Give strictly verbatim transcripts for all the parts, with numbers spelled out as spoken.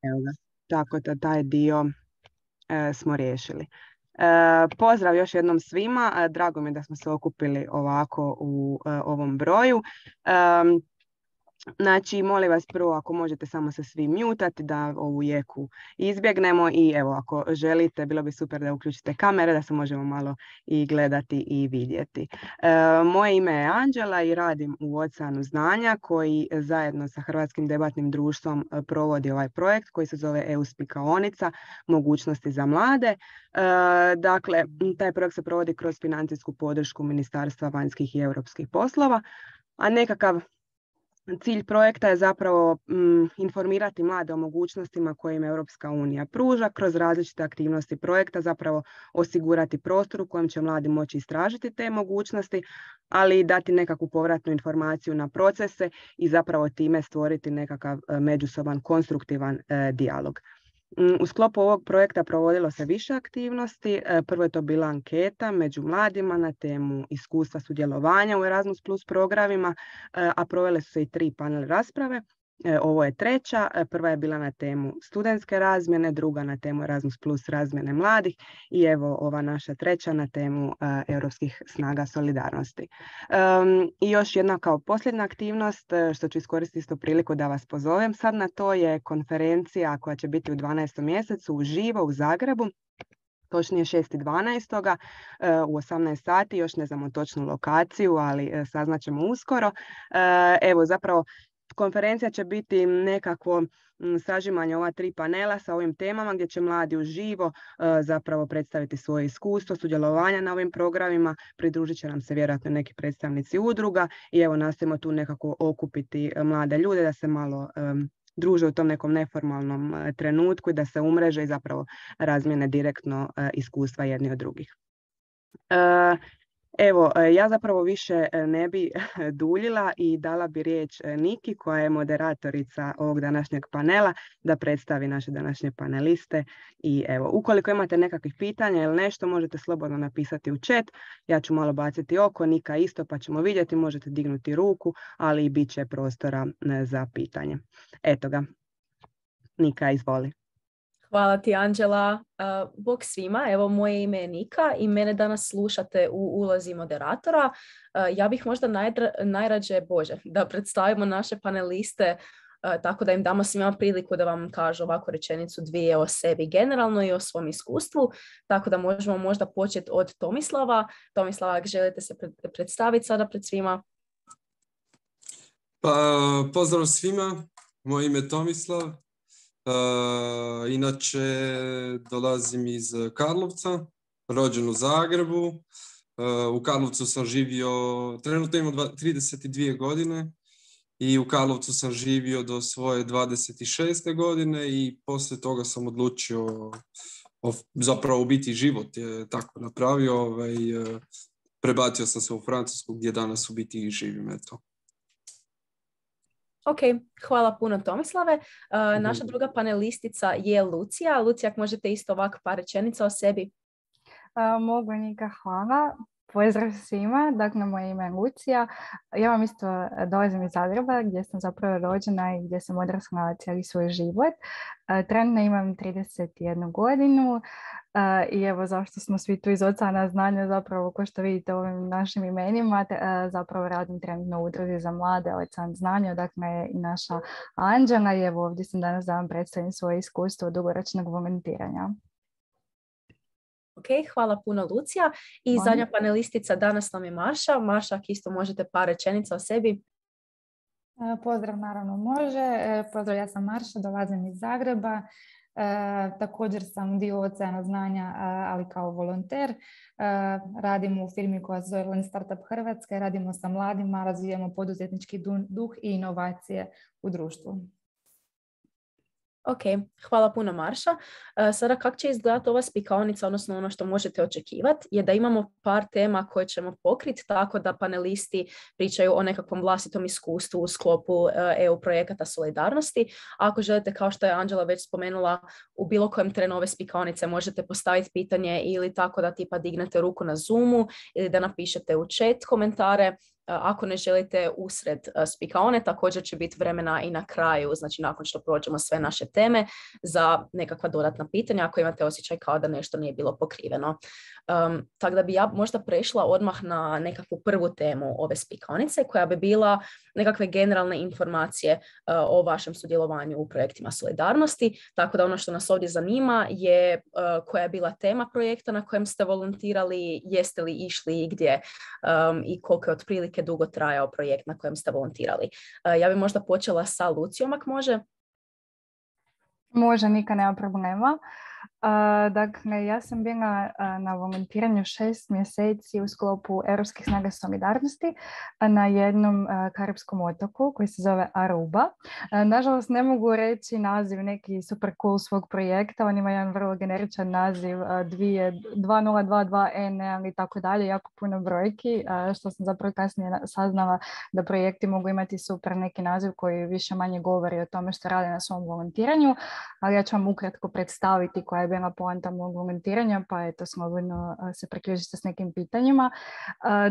Evo ga. Tako da taj dio e, smo riješili. E, pozdrav još jednom svima. E, drago mi je da smo se okupili ovako u e, ovom broju. E, Znači, molim vas prvo ako možete samo se svi mutati da ovu jeku izbjegnemo i evo ako želite bilo bi super da uključite kamere da se možemo malo i gledati i vidjeti. E, moje ime je Anđela i radim u Oceanu znanja koji zajedno sa Hrvatskim debatnim društvom provodi ovaj projekt koji se zove E U spikaonica mogućnosti za mlade. E, dakle, taj projekt se provodi kroz financijsku podršku Ministarstva vanjskih i europskih poslova, a nekakav cilj projekta je zapravo m, informirati mlade o mogućnostima koje im Europska unija pruža kroz različite aktivnosti projekta, zapravo osigurati prostor u kojem će mladi moći istražiti te mogućnosti, ali i dati nekakvu povratnu informaciju na procese i zapravo time stvoriti nekakav međusoban konstruktivan e, dijalog. U sklopu ovog projekta provodilo se više aktivnosti. Prvo je to bila anketa među mladima na temu iskustva sudjelovanja u Erasmus plus programima, a provele su se i tri panel rasprave. Ovo je treća. Prva je bila na temu studentske razmjene, druga na temu Erasmus plus razmjene mladih i evo ova naša treća na temu uh, europskih snaga solidarnosti. Um, I još jedna kao posljednja aktivnost, što ću iskoristiti isto priliku da vas pozovem sad na to, je konferencija koja će biti u dvanaestom mjesecu uživo u Zagrebu. Točnije šestog dvanaestog u osamnaest sati, još ne znamo točnu lokaciju, ali saznaćemo uskoro. Evo zapravo konferencija će biti nekakvo sažimanje ova tri panela sa ovim temama gdje će mladi uživo zapravo predstaviti svoje iskustvo sudjelovanja na ovim programima. Pridružit će nam se vjerojatno neki predstavnici udruga i evo nastojimo tu nekako okupiti mlade ljude da se malo um, druže u tom nekom neformalnom uh, trenutku i da se umreže i zapravo razmjene direktno uh, iskustva jedni od drugih. Uh, Evo, ja zapravo više ne bi duljila i dala bi riječ Niki koja je moderatorica ovog današnjeg panela da predstavi naše današnje paneliste. I evo, ukoliko imate nekakvih pitanja ili nešto, možete slobodno napisati u chat. Ja ću malo baciti oko, Nika isto, pa ćemo vidjeti, možete dignuti ruku, ali i bit će prostora za pitanje. Eto ga, Nika, izvoli. Hvala ti, Anđela. Uh, bog svima, evo moje ime je Nika i mene danas slušate u ulozi moderatora. Uh, ja bih možda najdra, najrađe, Bože, da predstavimo naše paneliste uh, tako da im damo svima priliku da vam kažu ovako rečenicu dvije o sebi generalno i o svom iskustvu. Tako da možemo možda početi od Tomislava. Tomislava, ako želite se pred, predstaviti sada pred svima. Pa, pozdrav svima, moje ime je Tomislav. Uh, inače dolazim iz Karlovca, rođen u Zagrebu. Uh, u Karlovcu sam živio, trenutno imam trideset dvije godine i u Karlovcu sam živio do svoje dvadeset šeste godine i poslije toga sam odlučio o, zapravo u biti život je tako napravio. Ovaj, uh, prebacio sam se u Francusku gdje danas u biti živim. Eto. Ok, hvala puno Tomislave. Uh, naša druga panelistica je Lucija. Lucija, ako možete isto ovako par rečenica o sebi. Uh, mogu, Nika, hvala. Pozdrav svima, dakle moje ime je Lucija. Ja vam isto dolazim iz Zagreba gdje sam zapravo rođena i gdje sam odrasla cijeli svoj život. Uh, trenutno imam trideset jednu godinu. Uh, I evo zašto smo svi tu iz Oceana znanja, zapravo ko što vidite ovim našim imenima, te, uh, zapravo radim trenutno u udruzi za mlade Ocean znanja, dakle i naša Anđela i evo ovdje sam danas da vam predstavim svoje iskustvo dugoročnog volontiranja. Ok, hvala puno Lucija. I Hvala. Zadnja panelistica danas nam je Marša. Marša, ako isto možete par rečenica o sebi. Pozdrav, naravno može. Pozdrav, ja sam Marša, dolazim iz Zagreba. E, također sam dio Oceana znanja, ali kao volonter. E, radim u firmi koja se zove Lean Startup Hrvatska. Radimo sa mladima, razvijamo poduzetnički duh i inovacije u društvu. Ok, hvala puno Marša. Uh, sada kako će izgledati ova spikaonica, odnosno ono što možete očekivati, je da imamo par tema koje ćemo pokriti tako da panelisti pričaju o nekakvom vlastitom iskustvu u sklopu uh, E U projekata solidarnosti. Ako želite, kao što je Anđela već spomenula, u bilo kojem trenu ove spikaonice možete postaviti pitanje ili tako da tipa dignete ruku na Zoomu ili da napišete u chat komentare. ako ne želite usred spikaone, također će biti vremena i na kraju, znači nakon što prođemo sve naše teme, za nekakva dodatna pitanja ako imate osjećaj kao da nešto nije bilo pokriveno. Um, tako da bi ja možda prešla odmah na nekakvu prvu temu ove spikaonice, koja bi bila nekakve generalne informacije uh, o vašem sudjelovanju u projektima solidarnosti. Tako da ono što nas ovdje zanima je uh, koja je bila tema projekta na kojem ste volontirali, jeste li išli i gdje um, i koliko je otprilike dugo trajao projekt na kojem ste volontirali. Uh, ja bi možda počela sa Lucijom, ako može. Može, nikad nema problema. Uh, dakle, ja sam bila uh, na volontiranju šest mjeseci u sklopu Europskih snaga solidarnosti uh, na jednom uh, karipskom otoku koji se zove Aruba. Uh, nažalost, ne mogu reći naziv neki super cool svog projekta. On ima jedan vrlo generičan naziv uh, dva nula dva dva N i tako dalje, jako puno brojki, uh, što sam zapravo kasnije saznala da projekti mogu imati super neki naziv koji više manje govori o tome što rade na svom volontiranju, ali ja ću vam ukratko predstaviti koja je bila poanta mog volontiranja, pa eto, slobodno se priključite s nekim pitanjima.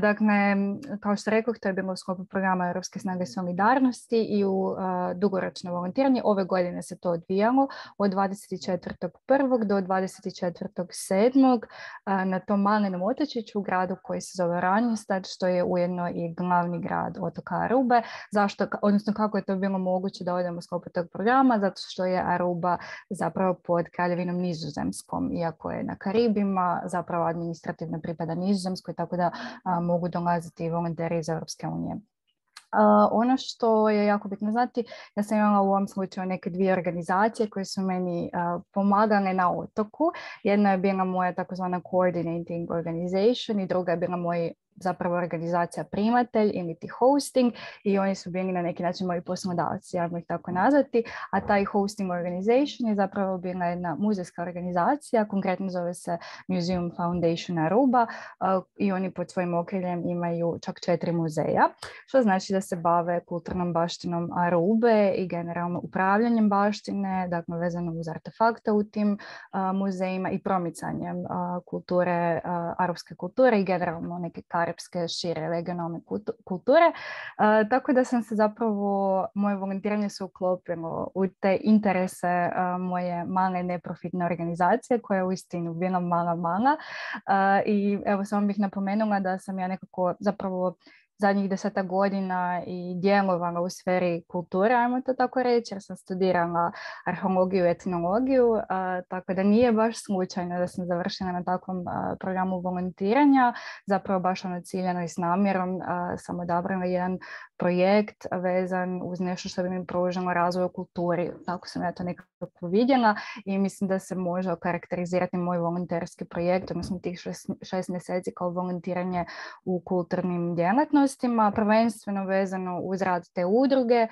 Dakle, kao što rekoh, to je bilo u sklopu programa Europske snage solidarnosti i u dugoročno volontiranje. Ove godine se to odvijalo od dvadeset četvrtog prvog do dvadeset četvrtog sedmog na tom malenom otočiću u gradu koji se zove Ranjestad, što je ujedno i glavni grad otoka Arube. Zašto, odnosno kako je to bilo moguće da odemo u sklopu tog programa? Zato što je Aruba zapravo pod kraljevinom Nizozemskom, iako je na Karibima, zapravo administrativno pripada Nizozemskoj, tako da a, mogu dolaziti volonteri iz Europske unije. Uh, ono što je jako bitno znati, ja sam imala u ovom slučaju neke dvije organizacije koje su meni uh, pomagale na otoku. Jedna je bila moja takozvana coordinating organization i druga je bila moj zapravo organizacija primatelj ili ti hosting, i oni su bili na neki način moji poslodavci, ja ih tako nazvati, a taj hosting organization je zapravo bila jedna muzejska organizacija, konkretno zove se Museum Foundation Aruba, uh, i oni pod svojim okriljem imaju čak četiri muzeja, što znači da se bave kulturnom baštinom Arube i generalno upravljanjem baštine, dakle vezano uz artefakte u tim uh, muzejima i promicanjem uh, kulture, uh, arapske kulture i generalno neke karipske šire regionalne kulture. Uh, tako da sam se zapravo, moje volontiranje se uklopilo u te interese uh, moje male neprofitne organizacije koja je uistinu bila mala mala. Uh, I evo samo bih napomenula da sam ja nekako zapravo zadnjih deseta godina i djelovala u sferi kulture, ajmo to tako reći, jer sam studirala arheologiju i etnologiju, uh, tako da nije baš slučajno da sam završila na takvom uh, programu volontiranja, zapravo baš ono ciljano i s namjerom uh, sam odabrala jedan projekt vezan uz nešto što bi mi pružilo razvoj u kulturi. Tako sam ja to nekako vidjela i mislim da se može okarakterizirati moj volonterski projekt, odnosno tih šest, šest mjeseci kao volontiranje u kulturnim djelatnostima, prvenstveno vezano uz rad te udruge,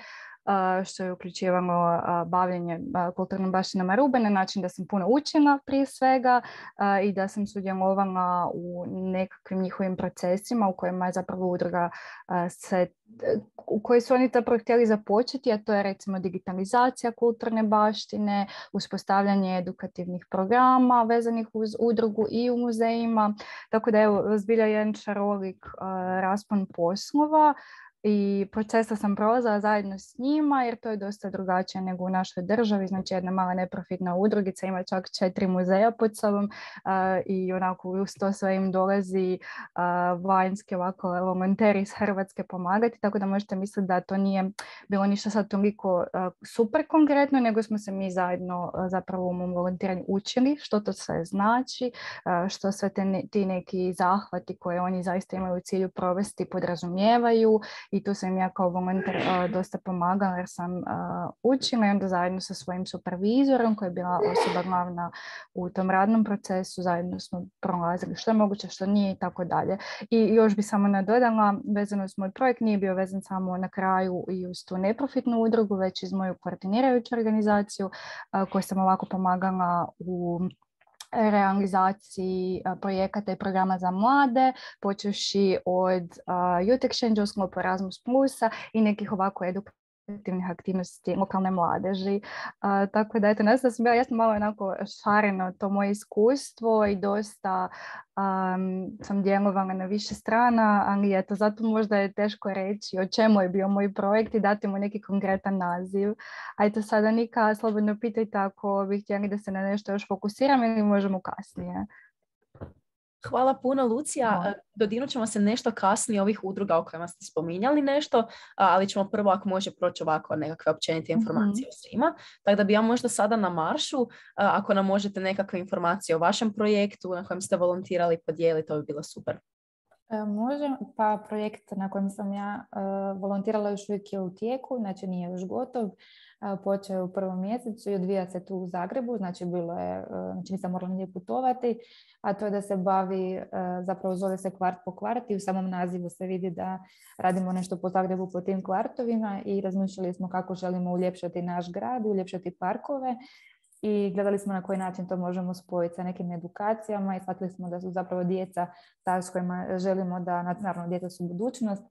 što je uključivalo bavljenje kulturnom baštinom Arube na način da sam puno učila prije svega i da sam sudjelovala u nekakvim njihovim procesima u kojima je zapravo udruga se, u kojoj su oni zapravo htjeli započeti, a to je recimo digitalizacija kulturne baštine, uspostavljanje edukativnih programa vezanih uz udrugu i u muzejima, tako da je zbilja jedan šarolik raspon poslova. I procesa sam prolazila zajedno s njima jer to je dosta drugačije nego u našoj državi. Znači jedna mala neprofitna udrugica ima čak četiri muzeja pod sobom uh, i onako uz to sve im dolazi uh, vanjski ovako volonteri iz Hrvatske pomagati, tako da možete misliti da to nije bilo ništa sad toliko uh, super konkretno, nego smo se mi zajedno uh, zapravo u mom volontiranju učili što to sve znači, uh, što sve te ne, ti neki zahvati koje oni zaista imaju u cilju provesti podrazumijevaju. I tu sam ja kao volonter uh, dosta pomagala jer sam uh, učila i onda zajedno sa svojim supervizorom koja je bila osoba glavna u tom radnom procesu, zajedno smo prolazili što je moguće, što nije i tako dalje. I još bi samo nadodala, vezano uz moj projekt, nije bio vezan samo na kraju i uz tu neprofitnu udrugu, već iz moju koordinirajuću organizaciju uh, koju sam ovako pomagala u realizaciji projekata i programa za mlade, počevši od uh, Youth Exchange u sklopu Erasmus plusa i nekih ovako edukativnih karitativnih aktivnosti lokalne mladeži. A, tako da, eto, nas da sam bila, ja sam malo onako šareno to moje iskustvo i dosta um, sam djelovala na više strana, ali eto, zato možda je teško reći o čemu je bio moj projekt i dati mu neki konkretan naziv. A eto, sada Nika, slobodno pitajte ako bi htjeli da se na nešto još fokusiram ili možemo kasnije. Hvala puno, Lucija. Dodirnut ćemo se nešto kasnije ovih udruga o kojima ste spominjali nešto, ali ćemo prvo, ako može, proći ovako nekakve općenite informacije o svima. Tako da bi ja možda sada na maršu, ako nam možete nekakve informacije o vašem projektu na kojem ste volontirali podijeliti, to bi bilo super. Može, pa projekt na kojem sam ja uh, volontirala još uvijek je u tijeku, znači nije još gotov. Uh, počeo je u prvom mjesecu i odvija se tu u Zagrebu, znači bilo je, uh, znači nisam morala nije putovati, a to je da se bavi, uh, zapravo zove se kvart po kvart i u samom nazivu se vidi da radimo nešto po Zagrebu po tim kvartovima i razmišljali smo kako želimo uljepšati naš grad, uljepšati parkove. I gledali smo na koji način to možemo spojiti sa nekim edukacijama i shvatili smo da su zapravo djeca ta s kojima želimo da, naravno djeca su budućnost,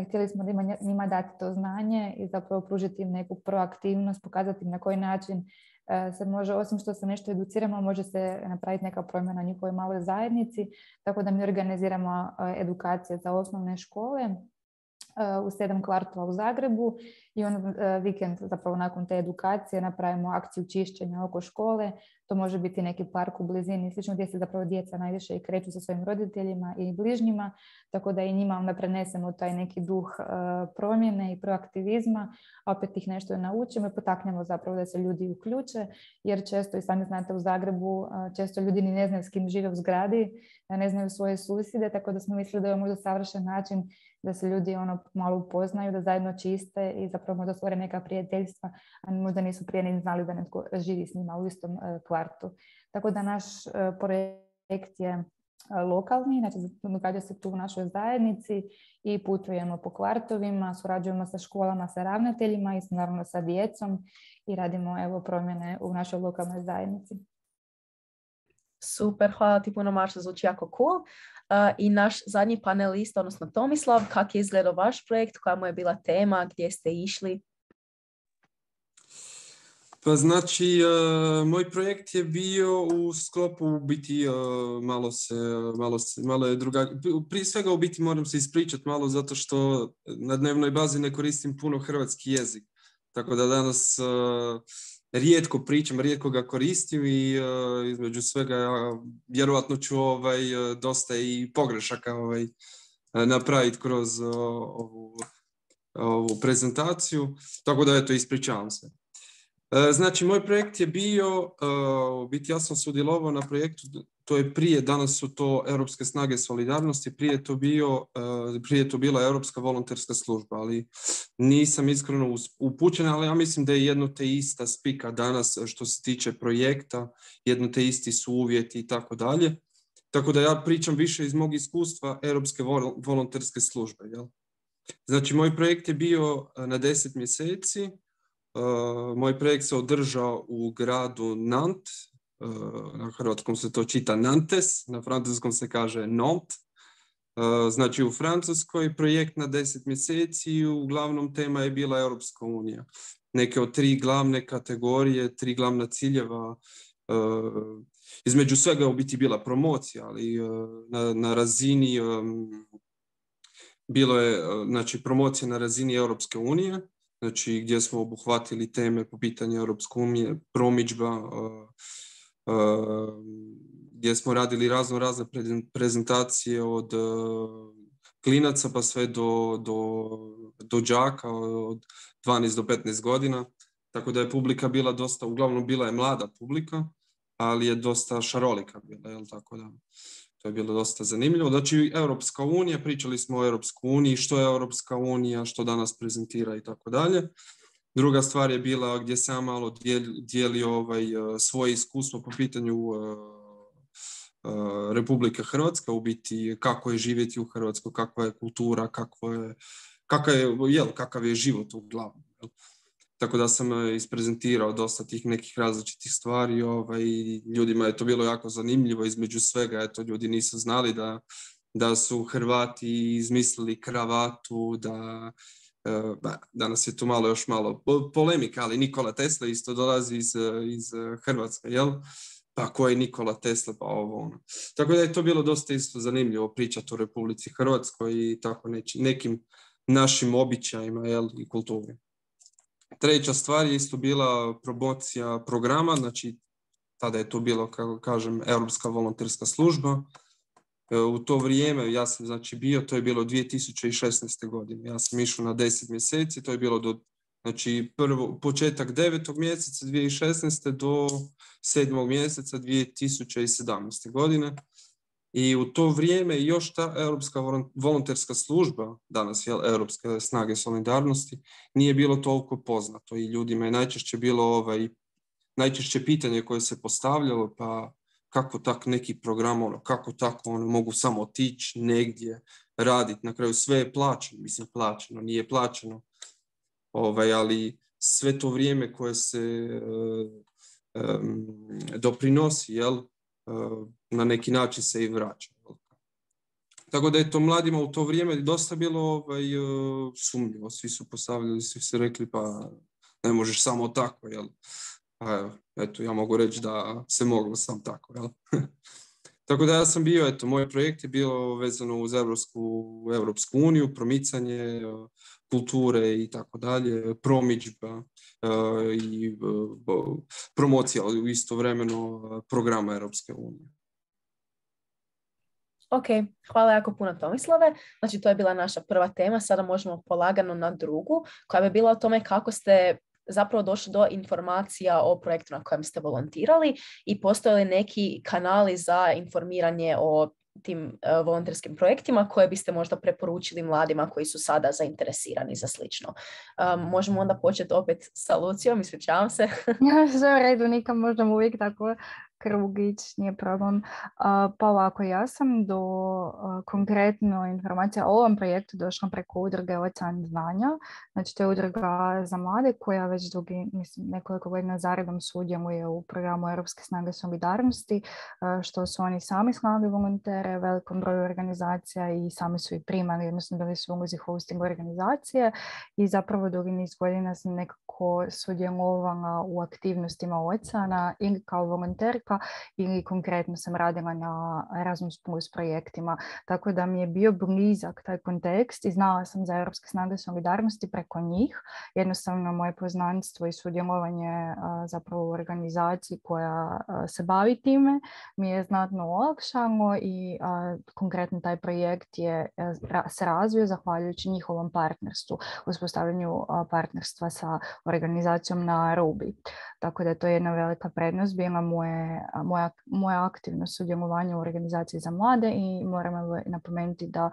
htjeli smo da ima, njima dati to znanje i zapravo pružiti im neku proaktivnost, pokazati im na koji način uh, se može, osim što se nešto educiramo, može se napraviti neka promjena u njihovoj maloj zajednici, tako da mi organiziramo uh, edukacije za osnovne škole u sedam kvartova u Zagrebu i on uh, vikend zapravo nakon te edukacije napravimo akciju čišćenja oko škole. To može biti neki park u blizini, slično gdje se zapravo djeca najviše i kreću sa svojim roditeljima i bližnjima, tako da i njima onda prenesemo taj neki duh uh, promjene i proaktivizma, a opet ih nešto naučimo i potaknemo zapravo da se ljudi uključe, jer često, i sami znate, u Zagrebu uh, često ljudi ni ne znaju s kim žive u zgradi, ne znaju svoje susjede, tako da smo mislili da je možda savršen način da se ljudi ono malo upoznaju, da zajedno čiste i zapravo možda stvore neka prijateljstva, a možda nisu prije ni znali da netko živi s njima u istom uh, kvartu. Tako da naš uh, projekt je uh, lokalni, znači događa se tu u našoj zajednici i putujemo po kvartovima, surađujemo sa školama, sa ravnateljima i naravno sa djecom i radimo evo promjene u našoj lokalnoj zajednici. Super, hvala ti puno, Marša, zvuči jako cool. Uh, I naš zadnji panelist, odnosno Tomislav, kako je izgledao vaš projekt, koja mu je bila tema, gdje ste išli? Pa znači, uh, moj projekt je bio u sklopu u biti uh, malo se, malo se, malo je drugačije. Prije svega u biti moram se ispričati malo zato što na dnevnoj bazi ne koristim puno hrvatski jezik. Tako da danas uh, rijetko pričam, rijetko ga koristim i uh, između svega ja vjerojatno ću ovaj, dosta i pogrešaka ovaj, napraviti kroz uh, ovu, ovu prezentaciju. Tako da eto, ispričavam se. Znači, moj projekt je bio, uh, biti ja sam sudjelovao na projektu, to je prije, danas su to Europske snage solidarnosti, prije to, bio, uh, prije to bila Europska volonterska služba, ali nisam iskreno upućen, ali ja mislim da je jedno te ista spika danas što se tiče projekta, jedno te isti su uvjeti i tako dalje. Tako da ja pričam više iz mog iskustva Europske volonterske službe. Jel? Znači, moj projekt je bio na deset mjeseci. Uh, moj projekt se održao u gradu Nantes, uh, na hrvatskom se to čita Nantes, na francuskom se kaže Nantes. Uh, znači u Francuskoj projekt na deset mjeseci i uglavnom tema je bila Europska unija. Neke od tri glavne kategorije, tri glavna ciljeva, uh, između svega je u biti bila promocija, ali uh, na, na razini, um, bilo je uh, znači, promocija na razini Europske unije, znači gdje smo obuhvatili teme po pitanju Europske unije, promidžba, uh, uh, gdje smo radili razno razne prezentacije od uh, klinaca pa sve do, do, do đaka od dvanaest do petnaest godina. Tako da je publika bila dosta, uglavnom bila je mlada publika, ali je dosta šarolika bila, jel tako da. To je bilo dosta zanimljivo. Znači, Europska unija, pričali smo o Europskoj uniji, što je Europska unija, što danas prezentira i tako dalje. Druga stvar je bila gdje sam malo dijelio, dijelio ovaj, svoje iskustvo po pitanju uh, uh, Republike Hrvatske, u biti kako je živjeti u Hrvatskoj, kakva je kultura, kakva je, kakav je, jel, kakav je život uglavnom. Jel? Tako da sam isprezentirao dosta tih nekih različitih stvari. Ovaj, ljudima je to bilo jako zanimljivo. Između svega, eto, ljudi nisu znali da, da su Hrvati izmislili kravatu, da danas je tu malo još malo polemika, ali Nikola Tesla isto dolazi iz, iz Hrvatske, jel? Pa ko je Nikola Tesla, pa ovo ono. Tako da je to bilo dosta isto zanimljivo pričati o Republici Hrvatskoj i tako neči, nekim našim običajima, jel, i kulturi. Treća stvar je isto bila promocija programa, znači tada je to bilo, kako kažem, Europska volonterska služba. U to vrijeme ja sam znači bio, to je bilo dvije tisuće šesnaeste. godine. Ja sam išao na deset mjeseci, to je bilo do, znači prvo, početak devetog mjeseca dvije tisuće šesnaeste. do sedmog mjeseca dvije tisuće sedamnaeste. godine. I u to vrijeme još ta Europska volonterska služba, danas je Europske snage solidarnosti, nije bilo toliko poznato i ljudima je najčešće bilo ovaj, najčešće pitanje koje se postavljalo, pa kako tak neki program, ono, kako tako ono, mogu samo otići negdje, raditi, na kraju sve je plaćeno, mislim plaćeno, nije plaćeno, ovaj, ali sve to vrijeme koje se uh, um, doprinosi, jel, uh, na neki način se i vraća. Tako da je to mladima u to vrijeme dosta bilo ovaj, uh, sumnjivo, svi su postavljali, svi su rekli pa ne možeš samo tako, jel? A eto, ja mogu reći da se moglo sam tako, jel? Tako da ja sam bio, eto, moj projekt je bilo vezano uz Evropsku, Evropsku uniju, promicanje kulture i tako dalje, promidžba i promocija u istovremeno programa Europske unije. Ok, hvala jako puno Tomislave. Znači to je bila naša prva tema, sada možemo polagano na drugu, koja bi bila o tome kako ste zapravo došli do informacija o projektu na kojem ste volontirali i postoje li neki kanali za informiranje o tim uh, volonterskim projektima koje biste možda preporučili mladima koji su sada zainteresirani za slično. Um, možemo onda početi opet sa Lucijom, ispričavam se. Ja, sve u redu, nikam možemo uvijek tako krugić, nije problem. Uh, pa ovako, ja sam do uh, konkretno informacija o ovom projektu došla preko udruge Ocean znanja. Znači, to je udruga za mlade koja već dugi, mislim, nekoliko godina zaredom sudjeluje u programu Europske snage solidarnosti, uh, što su oni sami slali volontere velikom broju organizacija i sami su i primali, odnosno bili su u ulozi hosting organizacije i zapravo dugi niz godina sam nekako sudjelovala u aktivnostima Oceana ili kao volonterka ili konkretno sam radila na Erasmus plus projektima, tako da mi je bio blizak taj kontekst i znala sam za Europske snage solidarnosti preko njih. Jednostavno moje poznanstvo i sudjelovanje a, zapravo u organizaciji koja a, se bavi time mi je znatno olakšalo i a, konkretno taj projekt je a, se razvio zahvaljujući njihovom partnerstvu, uspostavljanju a, partnerstva sa organizacijom na Arubi. Tako da je to jedna velika prednost bila moje Moja, moje aktivno sudjelovanje u organizaciji za mlade i moram napomenuti da uh,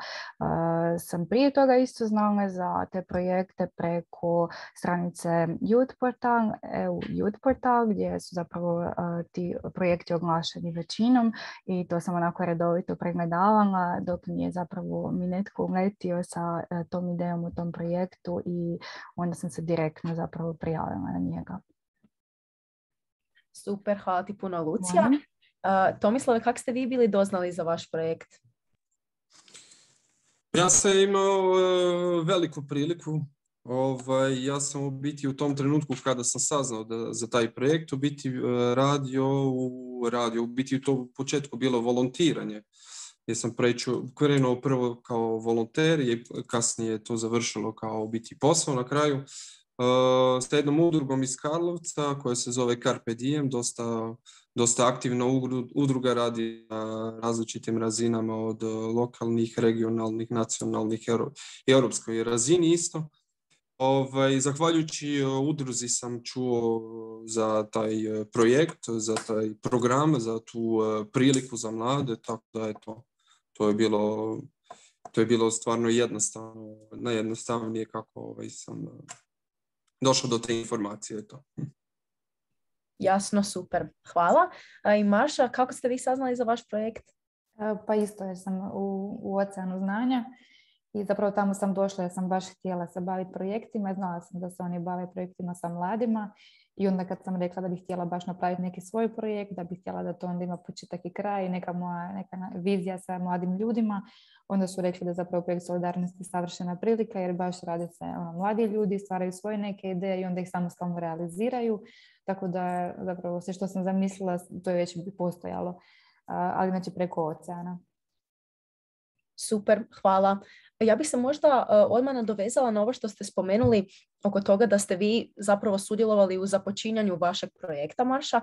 sam prije toga isto znala za te projekte preko stranice Youth Portal, E U Youth Portal, gdje su zapravo uh, ti projekti oglašeni većinom i to sam onako redovito pregledavala dok nije zapravo mi netko uletio sa uh, tom idejom u tom projektu i onda sam se direktno zapravo prijavila na njega. Super, hvala ti puno Lucija. Uh, Tomislave, kako ste vi bili doznali za vaš projekt? Ja sam imao uh, veliku priliku. Ovaj, ja sam u biti u tom trenutku kada sam saznao da, za taj projekt, u biti uh, radio, u radio, u biti u tom početku bilo volontiranje. Ja sam preču, krenuo prvo kao volonter i kasnije to završilo kao u biti posao na kraju. Uh, s jednom udrugom iz Karlovca koja se zove Carpe Diem, dosta, dosta aktivna udruga, radi na različitim razinama od lokalnih, regionalnih, nacionalnih i europskoj razini isto. Ovaj, zahvaljujući udruzi sam čuo za taj projekt, za taj program, za tu priliku za mlade, tako da je to, to je bilo, to je bilo stvarno jednostavno, najjednostavnije kako ovaj, sam došao do te informacije. To. Jasno, super. Hvala. A i Marša, kako ste vi saznali za vaš projekt? Pa isto jer sam u, u Oceanu znanja i zapravo tamo sam došla jer sam baš htjela se baviti projektima. Znala sam da se oni bave projektima sa mladima I onda kad sam rekla da bih htjela baš napraviti neki svoj projekt, da bih htjela da to onda ima početak i kraj, neka moja neka vizija sa mladim ljudima, onda su rekli da zapravo projekt Solidarnosti savršena prilika, jer baš rade se ono, mladi ljudi, stvaraju svoje neke ideje i onda ih samostalno realiziraju. Tako da zapravo sve što sam zamislila, to je već postojalo, ali znači preko oceana. Super, hvala. Ja bih se možda uh, odmah nadovezala na ovo što ste spomenuli oko toga da ste vi zapravo sudjelovali u započinjanju vašeg projekta, Marša.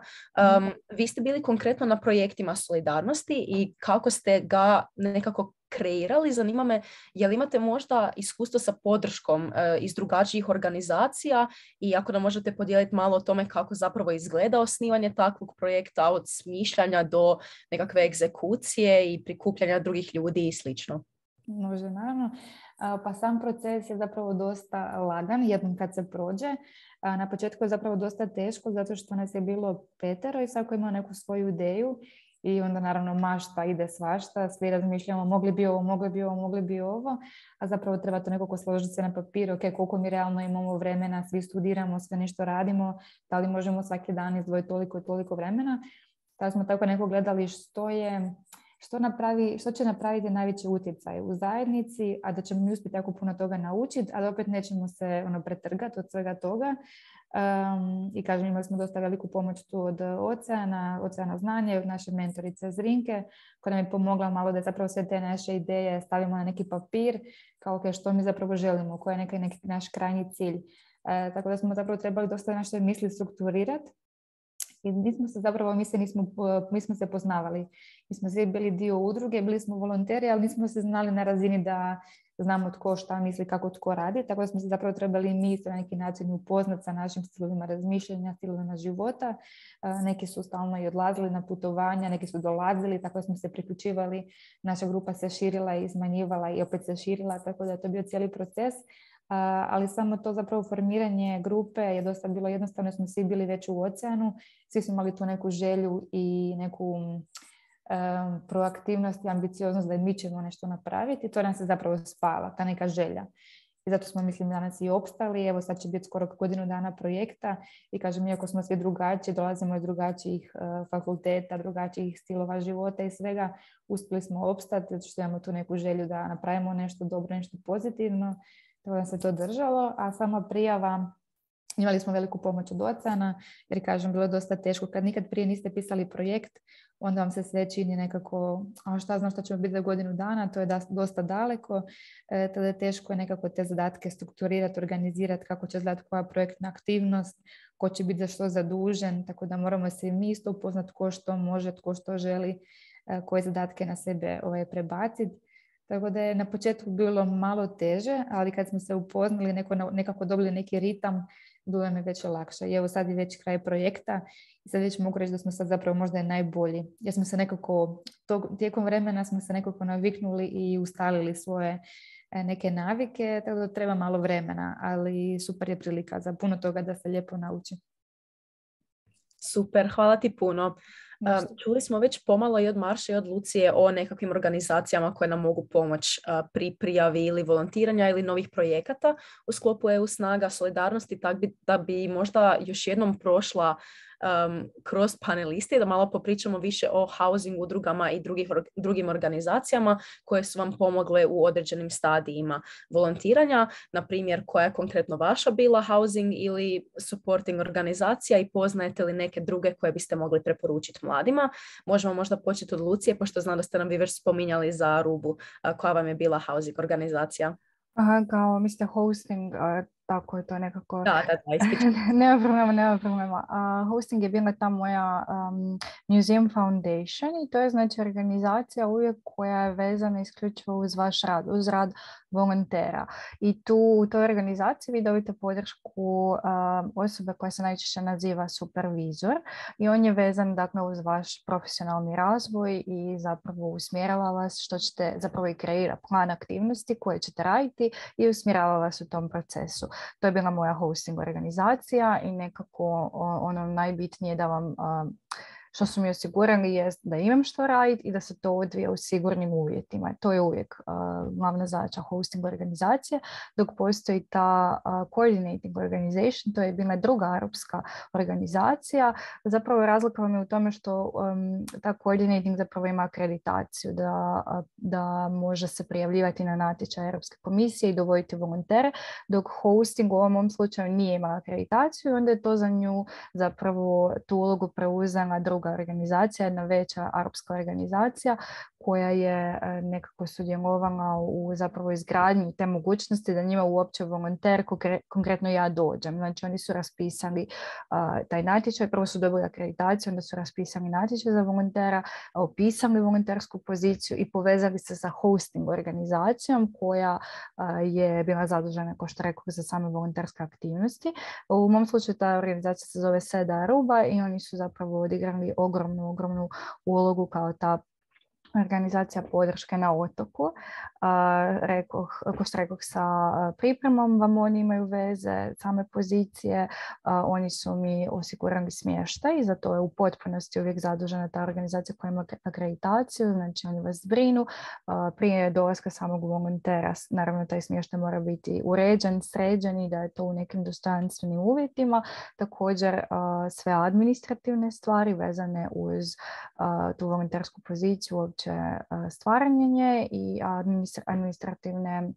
Um, mm. Vi ste bili konkretno na projektima Solidarnosti i kako ste ga nekako kreirali. Zanima me, je li imate možda iskustvo sa podrškom uh, iz drugačijih organizacija i ako nam možete podijeliti malo o tome kako zapravo izgleda osnivanje takvog projekta od smišljanja do nekakve egzekucije i prikupljanja drugih ljudi i slično. Može, naravno. Pa sam proces je zapravo dosta lagan jednom kad se prođe. Na početku je zapravo dosta teško zato što nas je bilo petero i svako ima neku svoju ideju i onda naravno mašta ide svašta, svi razmišljamo mogli bi ovo, mogli bi ovo, mogli bi ovo, a zapravo treba to nekako složiti se na papir, ok, koliko mi realno imamo vremena, svi studiramo, sve nešto radimo, da li možemo svaki dan izdvojiti toliko i toliko vremena. Tada smo tako neko gledali što je... Što, napravi, što će napraviti najveći utjecaj u zajednici, a da ćemo mi uspjeti jako puno toga naučiti, a da opet nećemo se ono, pretrgati od svega toga. Um, I kažem, imali smo dosta veliku pomoć tu od Oceana, Oceana znanje, od naše mentorice Zrinke, koja nam je pomogla malo da zapravo sve te naše ideje stavimo na neki papir, kao okay, što mi zapravo želimo, koji je neki, neki naš krajnji cilj. E, tako da smo zapravo trebali dosta naše misli strukturirati. I nismo se zapravo, mi se, nismo, mi smo se poznavali. Mi smo svi bili dio udruge, bili smo volonteri, ali nismo se znali na razini da znamo tko šta misli, kako tko radi. Tako da smo se zapravo trebali mi na neki način upoznati sa našim stilovima razmišljanja, stilovima života. Neki su stalno i odlazili na putovanja, neki su dolazili, tako da smo se priključivali. Naša grupa se širila i smanjivala i opet se širila, tako da je to bio cijeli proces. Uh, ali samo to zapravo formiranje grupe je dosta bilo jednostavno, smo svi bili već u Oceanu, svi smo imali tu neku želju i neku um, proaktivnost i ambicioznost da mi ćemo nešto napraviti i to nam se zapravo spala, ta neka želja. I zato smo, mislim, danas i opstali. Evo sad će biti skoro godinu dana projekta i kažem, iako smo svi drugačiji, dolazimo iz drugačijih uh, fakulteta, drugačijih stilova života i svega, uspjeli smo opstati zato što imamo tu neku želju da napravimo nešto dobro, nešto pozitivno. Tako da se to držalo, a sama prijava, imali smo veliku pomoć od Oceana, jer kažem, bilo je dosta teško. Kad nikad prije niste pisali projekt, onda vam se sve čini nekako, a šta znam šta ćemo biti za godinu dana, to je da, dosta daleko, e, tada je teško je nekako te zadatke strukturirati, organizirati, kako će izgledati koja projektna aktivnost, ko će biti za što zadužen, tako da moramo se i mi isto upoznati ko što može, ko što želi, e, koje zadatke na sebe ovaj, prebaciti. Tako da je na početku bilo malo teže, ali kad smo se upoznali, neko, nekako dobili neki ritam, bilo je mi već lakše. I evo sad je već kraj projekta i sad već mogu reći da smo sad zapravo možda najbolji. Jer smo se nekako, tog, tijekom vremena smo se nekako naviknuli i ustalili svoje neke navike, tako da treba malo vremena, ali super je prilika za puno toga da se lijepo nauči. Super, hvala ti puno. Um, čuli smo već pomalo i od Marše i od Lucije o nekakvim organizacijama koje nam mogu pomoći uh, pri prijavi ili volontiranja ili novih projekata u sklopu E U snaga solidarnosti, tak bi, da bi možda još jednom prošla um, kroz panelisti, da malo popričamo više o housing udrugama i drugih, drugim organizacijama koje su vam pomogle u određenim stadijima volontiranja, na primjer koja je konkretno vaša bila housing ili supporting organizacija i poznajete li neke druge koje biste mogli preporučiti mladima. Možemo možda početi od Lucije, pošto znam da ste nam vi već spominjali za Arubu, koja vam je bila housing organizacija. Aha, kao mislite hosting, uh, tako je to nekako. Da, da, da, ispričam. nema problema, nema problema. Uh, hosting je bila ta moja um, Museum Foundation i to je znači organizacija uvijek koja je vezana isključivo uz vaš rad, uz rad volontera. I tu u toj organizaciji vi dobite podršku um, osobe koja se najčešće naziva supervizor i on je vezan dakle uz vaš profesionalni razvoj i zapravo usmjerava vas što ćete zapravo i kreira plan aktivnosti koje ćete raditi i usmjerava vas u tom procesu. To je bila moja hosting organizacija i nekako ono najbitnije da vam što su mi osigurali je da imam što raditi i da se to odvija u sigurnim uvjetima. To je uvijek uh, glavna zadaća hosting organizacije, dok postoji ta uh, coordinating organization, to je bila druga arapska organizacija. Zapravo razlika vam je u tome što um, ta coordinating zapravo ima akreditaciju da, da može se prijavljivati na natječaj Europske komisije i dovoditi volontere, dok hosting u ovom slučaju nije imala akreditaciju, onda je to za nju zapravo tu ulogu preuzela druga organizacija, jedna veća arapska organizacija koja je nekako sudjelovala u zapravo izgradnji te mogućnosti da njima uopće volonter, konkretno ja, dođem. Znači oni su raspisali uh, taj natječaj, prvo su dobili akreditaciju, onda su raspisali natječaj za volontera, opisali volontersku poziciju i povezali se sa hosting organizacijom koja uh, je bila zadužena, kao što rekao, za same volonterske aktivnosti. U mom slučaju ta organizacija se zove Seda Aruba i oni su zapravo odigrali ogromnu, ogromnu ulogu kao ta organizacija podrške na otoku. Uh, rekoh, ko što rekoh, sa pripremom vam oni imaju veze, same pozicije, uh, oni su mi osigurali smještaj i za to je u potpunosti uvijek zadužena ta organizacija koja ima akreditaciju, znači oni vas brinu. Uh, prije dolaska samog volontera, naravno taj smještaj mora biti uređen, sređen i da je to u nekim dostojanstvenim uvjetima. Također uh, sve administrativne stvari vezane uz uh, tu volontersku poziciju, stvaranje nje i administrativne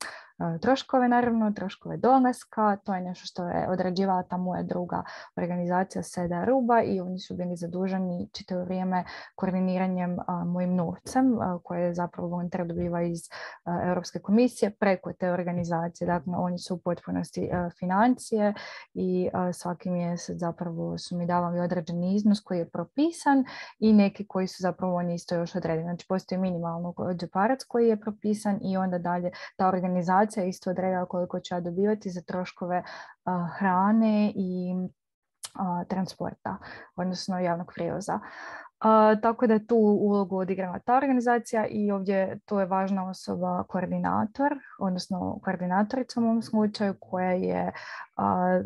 troškove, naravno, troškove dolaska. To je nešto što je odrađivala ta moja druga organizacija Seda Aruba i oni su bili zaduženi čitavo vrijeme koordiniranjem a, mojim novcem a, koje zapravo volonter dobiva iz a, Europske komisije preko te organizacije. Dakle, oni su u potpunosti a, financije i a, svaki mjesec zapravo su mi davali određeni iznos koji je propisan i neki koji su zapravo oni isto još odredili. Znači, postoji minimalno džeparac koji je propisan i onda dalje ta organizacija isto odredila koliko ću ja dobivati za troškove uh, hrane i uh, transporta, odnosno javnog prijevoza. Uh, tako da je tu ulogu odigrala ta organizacija i ovdje tu je važna osoba koordinator, odnosno koordinatorica u mom slučaju koja je uh,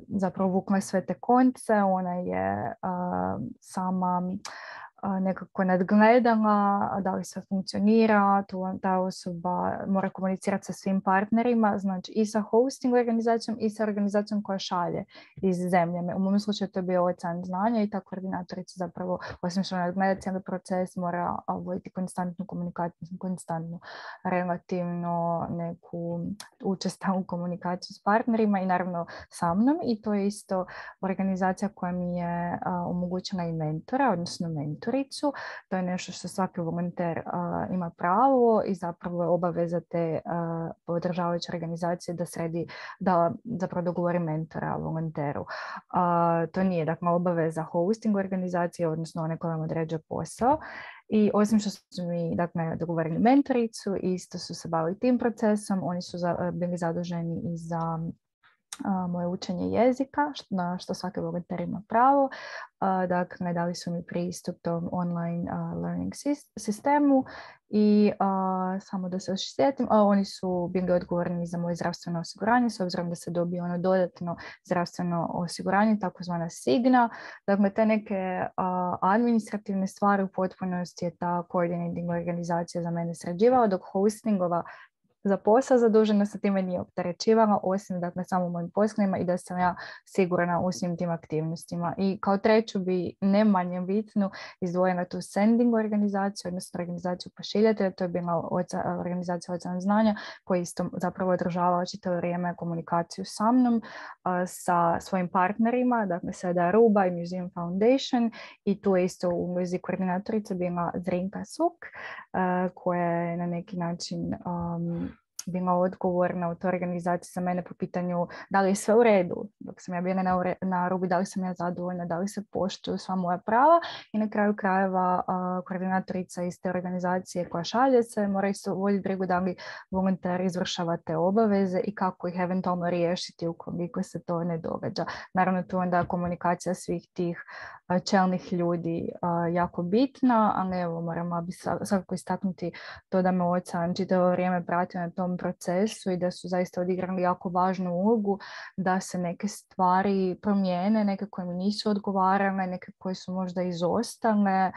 zapravo vukla sve te konce, ona je uh, sama nekako nadgledala da li sve funkcionira, tu ta osoba mora komunicirati sa svim partnerima, znači i sa hosting organizacijom i sa organizacijom koja šalje iz zemlje. U mom slučaju to je bio Ocean znanja i ta koordinatorica zapravo, osim što nadgleda cijeli proces, mora voditi konstantnu komunikaciju, konstantnu relativno neku učestalu komunikaciju s partnerima i naravno sa mnom, i to je isto organizacija koja mi je a, omogućila i mentora, odnosno mentori. To je nešto što svaki volonter uh, ima pravo i zapravo je obaveza te uh, podržavajuće organizacije da sredi, da zapravo dogovori mentora volonteru. Uh, to nije dakle obaveza hosting organizacije, odnosno one koja vam određuje posao. I osim što su mi dakle, dogovorili mentoricu, isto su se bavili tim procesom, oni su za, bili zaduženi i za Uh, moje učenje jezika, na što svaki volonter ima pravo. Uh, dakle, dali su mi pristup tom online uh, learning sistemu i uh, samo da se još sjetim, uh, oni su bili odgovorni za moje zdravstveno osiguranje, s obzirom da se dobije ono dodatno zdravstveno osiguranje, takozvana Signa. Dakle, te neke uh, administrativne stvari u potpunosti je ta coordinating organizacija za mene sređivala, dok hostingova za posao zadužena sa time nije opterećivala, osim dakle samo mojim poslovima i da sam ja sigurna u svim tim aktivnostima. I kao treću bi ne manje bitnu izdvojila tu sending organizaciju, odnosno organizaciju pošiljatelja, to je bila oca, organizacija Ocean znanja koja isto zapravo održavala čitavo vrijeme komunikaciju sa mnom, a, sa svojim partnerima, dakle Seda Aruba i Museum Foundation, i tu je isto u ulozi koordinatorica bila Zrinka Suk, a, koja je na neki način um, bila odgovorna u toj organizaciji za mene po pitanju da li je sve u redu. Dok sam ja bila na, na rubi, da li sam ja zadovoljna, da li se poštuju sva moja prava, i na kraju krajeva uh, koordinatorica iz te organizacije koja šalje se mora isto voditi brigu da li volonter izvršava te obaveze i kako ih eventualno riješiti ukoliko se to ne događa. Naravno, tu onda komunikacija svih tih uh, čelnih ljudi uh, jako bitna, ali evo moramo bi svakako istaknuti to da me Ocean čitavo vrijeme pratio na tom tom procesu i da su zaista odigrali jako važnu ulogu da se neke stvari promijene, neke koje mi nisu odgovarale, neke koje su možda izostale.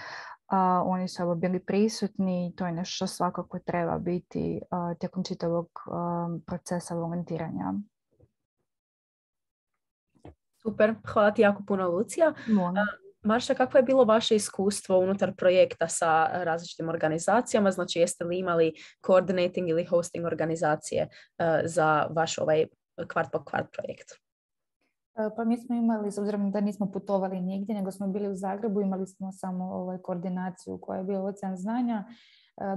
Uh, oni su evo bili prisutni i to je nešto što svakako treba biti uh, tijekom čitavog uh, procesa volontiranja. Super, hvala ti jako puno, Lucija. Molim. Marša, kakvo je bilo vaše iskustvo unutar projekta sa različitim organizacijama? Znači, jeste li imali coordinating ili hosting organizacije uh, za vaš ovaj kvart po kvart projekt? Pa mi smo imali, s obzirom da nismo putovali nigdje, nego smo bili u Zagrebu, imali smo samo ovaj, koordinaciju koja je bila Ocean znanja.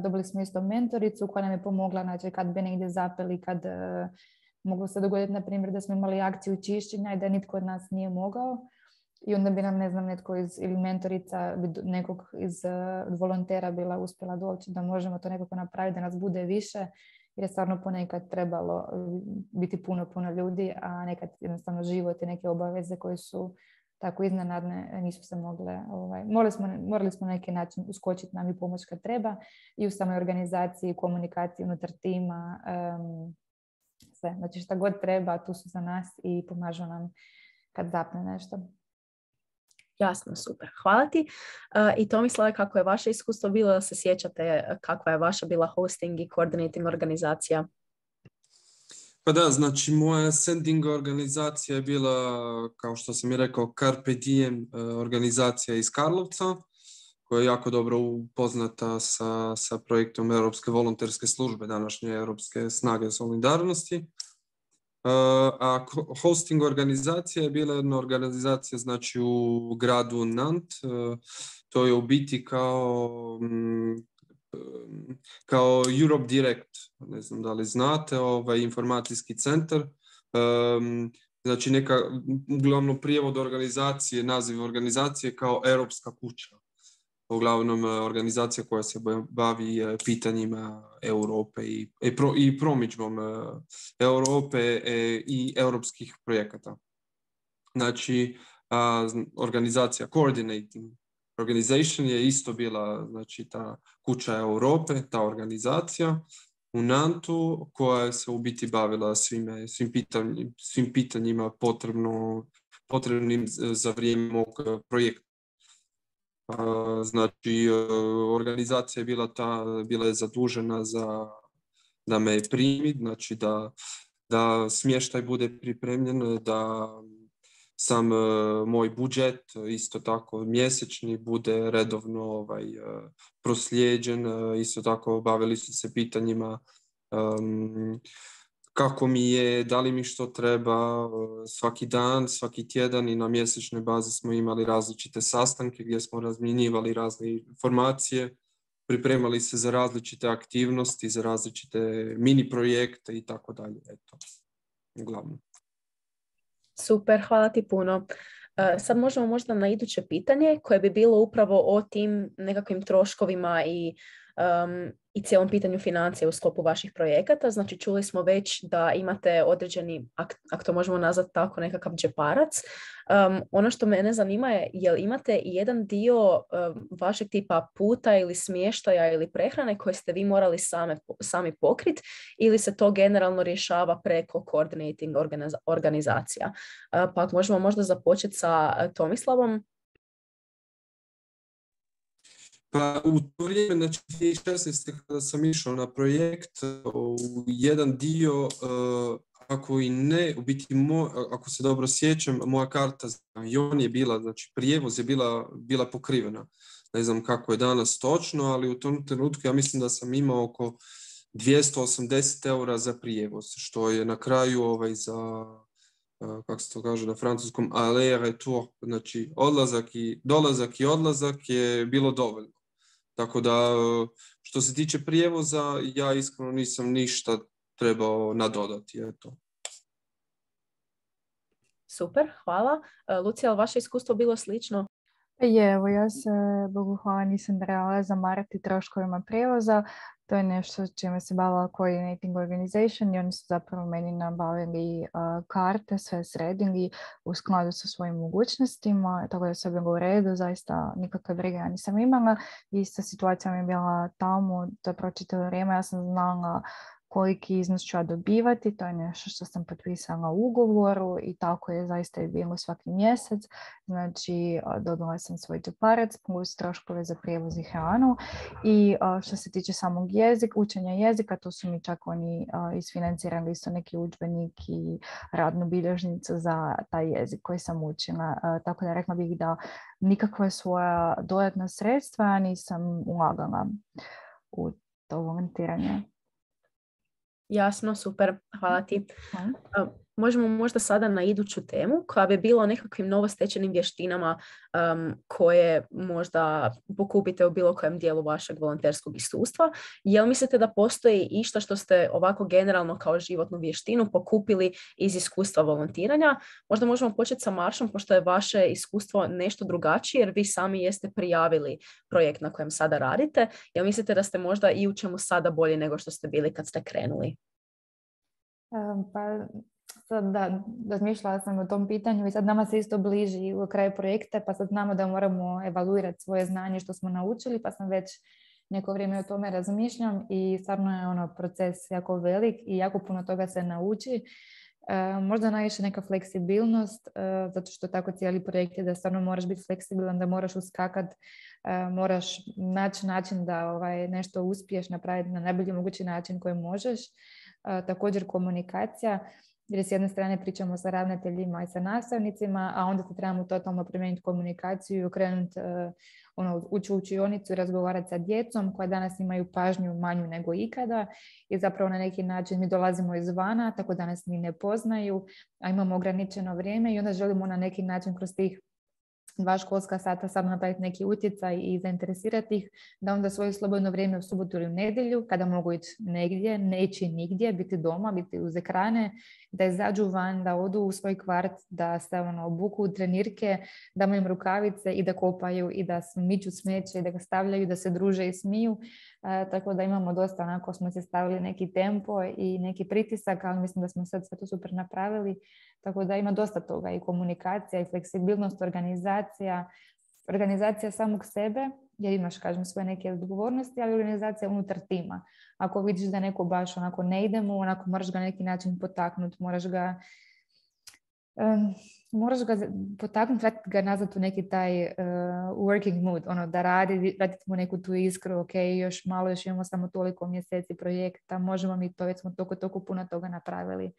Dobili smo isto mentoricu koja nam je pomogla, znači kad bi negdje zapeli, kad uh, moglo se dogoditi, na primjer, da smo imali akciju čišćenja i da nitko od nas nije mogao. I onda bi nam, ne znam, netko iz, ili mentorica nekog iz uh, volontera bila uspjela doći da možemo to nekako napraviti, da nas bude više. Jer je stvarno ponekad trebalo biti puno, puno ljudi, a nekad jednostavno život i neke obaveze koje su tako iznenadne nisu se mogle. Ovaj, morali, smo, morali smo na neki način uskočiti nam i pomoć kad treba i u samoj organizaciji, komunikaciji unutar tima, um, sve. Znači šta god treba, tu su za nas i pomažu nam kad zapne nešto. Jasno, super. Hvala ti. Uh, I Tomislave, kako je vaše iskustvo bilo, da se sjećate kakva je vaša bila hosting i coordinating organizacija? Pa da, znači moja sending organizacija je bila, kao što sam i rekao, Carpe Diem organizacija iz Karlovca, koja je jako dobro upoznata sa, sa projektom Europske volonterske službe, današnje Europske snage solidarnosti. A hosting organizacija je bila jedna organizacija, znači, u gradu Nantes. To je u biti kao, kao Europe Direct, ne znam da li znate, ovaj informacijski centar. Znači neka, uglavnom prijevod organizacije, naziv organizacije kao Europska kuća. Uglavnom organizacija koja se bavi pitanjima Europe i, i, pro, i promidžbom Europe i europskih projekata. Znači, a, organizacija Coordinating Organization je isto bila, znači, ta kuća Europe, ta organizacija u Nantu, koja se u biti bavila svime, svim, pitanjima, svim pitanjima potrebno, potrebnim za vrijeme mog projekta. Znači, organizacija je bila, ta, bila je zadužena za da me primi, znači da, da smještaj bude pripremljen, da sam moj budžet, isto tako mjesečni, bude redovno ovaj, proslijeđen. Isto tako bavili su se pitanjima um, kako mi je, da li mi što treba svaki dan, svaki tjedan, i na mjesečnoj bazi smo imali različite sastanke gdje smo razmjenjivali razne informacije, pripremali se za različite aktivnosti, za različite mini projekte i tako dalje. Eto, uglavnom. Super, hvala ti puno. Sad možemo možda na iduće pitanje koje bi bilo upravo o tim nekakvim troškovima i Um, i cijelom pitanju financija u sklopu vaših projekata. Znači, čuli smo već da imate određeni, ako to možemo nazvati tako, nekakav džeparac. Um, ono što mene zanima je, jel imate i jedan dio um, vašeg tipa puta ili smještaja ili prehrane koje ste vi morali same, sami pokriti, ili se to generalno rješava preko coordinating organiza- organizacija? Uh, pa možemo možda započeti sa Tomislavom. Pa u to vrijeme, znači dvije tisuće šesnaeste kada sam išao na projekt, u jedan dio, ako i ne, u biti, moj, ako se dobro sjećam, moja karta za avion je bila, znači prijevoz je bila, bila pokrivena. Ne znam kako je danas točno, ali u tom trenutku ja mislim da sam imao oko dvjesto osamdeset eura za prijevoz, što je na kraju ovaj za, kako se to kaže na francuskom, aller retour, znači odlazak i, dolazak i odlazak je bilo dovoljno. Tako da, što se tiče prijevoza, ja iskreno nisam ništa trebao nadodati. Eto. Super, hvala. Lucija, ali vaše iskustvo bilo slično? Je, evo, ja se, Bogu hvala, nisam trebala zamarati troškovima prijevoza. To je nešto čime se bavila Coordinating Organization i oni su zapravo meni nabavili uh, karte, sve sredili u skladu sa svojim mogućnostima, tako da sve bilo u redu, zaista nikakve brige ja nisam imala. Ista situacija mi je bila tamo, zapravo čitavo vrijeme, ja sam znala koliki iznos ću ja dobivati, to je nešto što sam potpisala u ugovoru i tako je zaista i bilo svaki mjesec. Znači, dobila sam svoj džeparac plus troškove za prijevoz i hranu. I što se tiče samog jezika, učenja jezika, to su mi čak oni isfinancirali isto neki udžbenik i radnu bilježnicu za taj jezik koji sam učila. Tako da rekla bih da nikakva svoja dodatna sredstva nisam ulagala u to volontiranje. Jasno, super, hvala ti. Uh, možemo možda sada na iduću temu koja bi bila o nekakvim novostečenim vještinama um, koje možda pokupite u bilo kojem dijelu vašeg volonterskog iskustva. Jel mislite da postoji išta što ste ovako generalno kao životnu vještinu pokupili iz iskustva volontiranja? Možda možemo početi sa Maršom, pošto je vaše iskustvo nešto drugačije jer vi sami jeste prijavili projekt na kojem sada radite. Jel mislite da ste možda i u čemu sada bolji nego što ste bili kad ste krenuli? Pa sad da, razmišljala sam o tom pitanju i sad nama se isto bliži u kraju projekta, pa sad znamo da moramo evaluirati svoje znanje što smo naučili, pa sam već neko vrijeme o tome razmišljam i stvarno je ono proces jako velik i jako puno toga se nauči. E, možda najviše neka fleksibilnost, e, zato što tako cijeli projekt je da stvarno moraš biti fleksibilan, da moraš uskakat, e, moraš naći način da ovaj, nešto uspiješ napraviti na najbolji mogući način koji možeš. E, također komunikacija, jer s jedne strane pričamo sa ravnateljima i sa nastavnicima, a onda se trebamo totalno promijeniti komunikaciju i okrenuti uh, ono, ući u učionicu i razgovarati sa djecom koja danas imaju pažnju manju nego ikada i zapravo na neki način mi dolazimo izvana, tako da nas ni ne poznaju, a imamo ograničeno vrijeme i onda želimo na neki način kroz tih dva školska sata samo napraviti neki utjecaj i zainteresirati ih, da onda svoje slobodno vrijeme u subotu ili u nedjelju, kada mogu ići negdje, ne ići nigdje, biti doma, biti uz ekrane, da izađu van, da odu u svoj kvart, da se ono, obuku u trenirke, da imaju rukavice i da kopaju i da miču smeće i da ga stavljaju, da se druže i smiju. E, tako da imamo dosta, onako smo se stavili neki tempo i neki pritisak, ali mislim da smo sad sve to super napravili. Tako da ima dosta toga i komunikacija i fleksibilnost, organizacija, organizacija samog sebe, jer imaš, kažem, svoje neke odgovornosti, ali organizacija unutar tima. Ako vidiš da neko baš onako ne ide mu, onako moraš ga na neki način potaknuti, moraš ga um, moraš ga potaknuti, vratiti ga nazad u neki taj uh, working mood, ono da radi, vratiti mu neku tu iskru, ok, još malo, još imamo samo toliko mjeseci projekta, možemo mi to, već smo toliko, toliko puno toga napravili.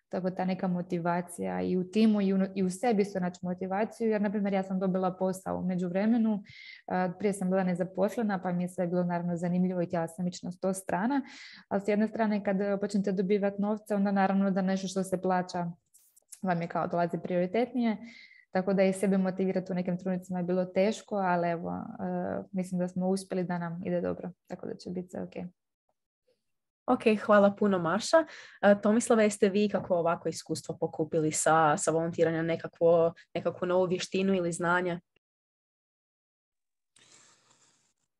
Tako ta neka motivacija i u timu i u, i u sebi su naći motivaciju, jer na primjer ja sam dobila posao u međuvremenu, uh, prije sam bila nezaposlena pa mi je sve bilo naravno zanimljivo i htjela sam ići na sto strana, ali s jedne strane kad počnete dobivati novce onda naravno da nešto što se plaća vam je kao dolazi prioritetnije, tako da i sebe motivirati u nekim trenucima je bilo teško, ali evo, uh, mislim da smo uspjeli da nam ide dobro, tako da će biti sve ok. Ok, hvala puno Marša. Uh, Tomislava, jeste vi kako ovako iskustvo pokupili sa, sa volontiranjem, nekakvo, nekakvu novu vještinu ili znanje?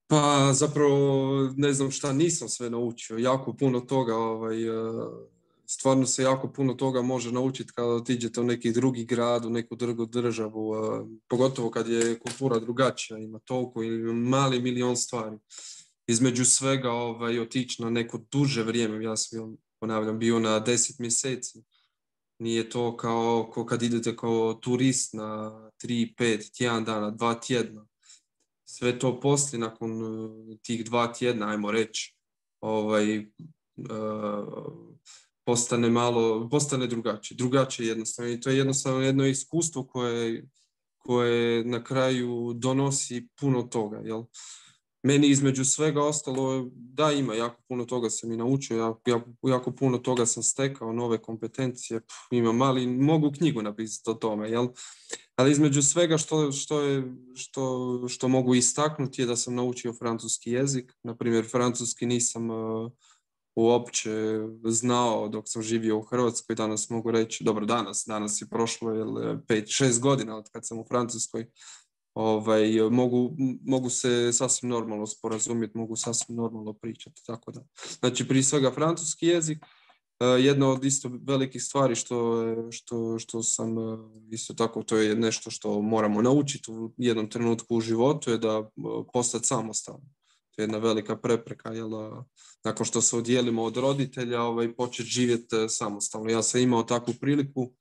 Pa zapravo ne znam šta nisam sve naučio. Jako puno toga, ovaj, stvarno se jako puno toga može naučiti kada otiđete u neki drugi grad, u neku drugu državu, pogotovo kad je kultura drugačija, ima toliko ili mali milion stvari. Između svega ovaj, otići na neko duže vrijeme, ja sam ponavljam bio na deset mjeseci. Nije to kao, kao kad idete kao turist na tri, pet, tjedan dana, dva tjedna. Sve to poslije, nakon tih dva tjedna, ajmo reći, ovaj, uh, postane malo, postane drugačije. Drugačije jednostavno. I to je jednostavno jedno iskustvo koje, koje na kraju donosi puno toga, jel? Meni između svega ostalo, da ima, jako puno toga sam i naučio, jako, jako, jako puno toga sam stekao, nove kompetencije, Pff, imam mali, mogu knjigu napisati o tome, jel? Ali između svega što, što, je, što, što mogu istaknuti je da sam naučio francuski jezik, na primjer francuski nisam uh, uopće znao dok sam živio u Hrvatskoj, danas mogu reći, dobro danas, danas je prošlo pet šest godina od kad sam u Francuskoj. Ovaj, mogu, mogu se sasvim normalno sporazumjeti, mogu sasvim normalno pričati, tako da. Znači, prije svega francuski jezik, jedna od isto velikih stvari što, što, što sam isto tako, to je nešto što moramo naučiti u jednom trenutku u životu, je da postati samostalan. To je jedna velika prepreka, jel, nakon što se odijelimo od roditelja, ovaj, početi živjeti samostalno. Ja sam imao takvu priliku,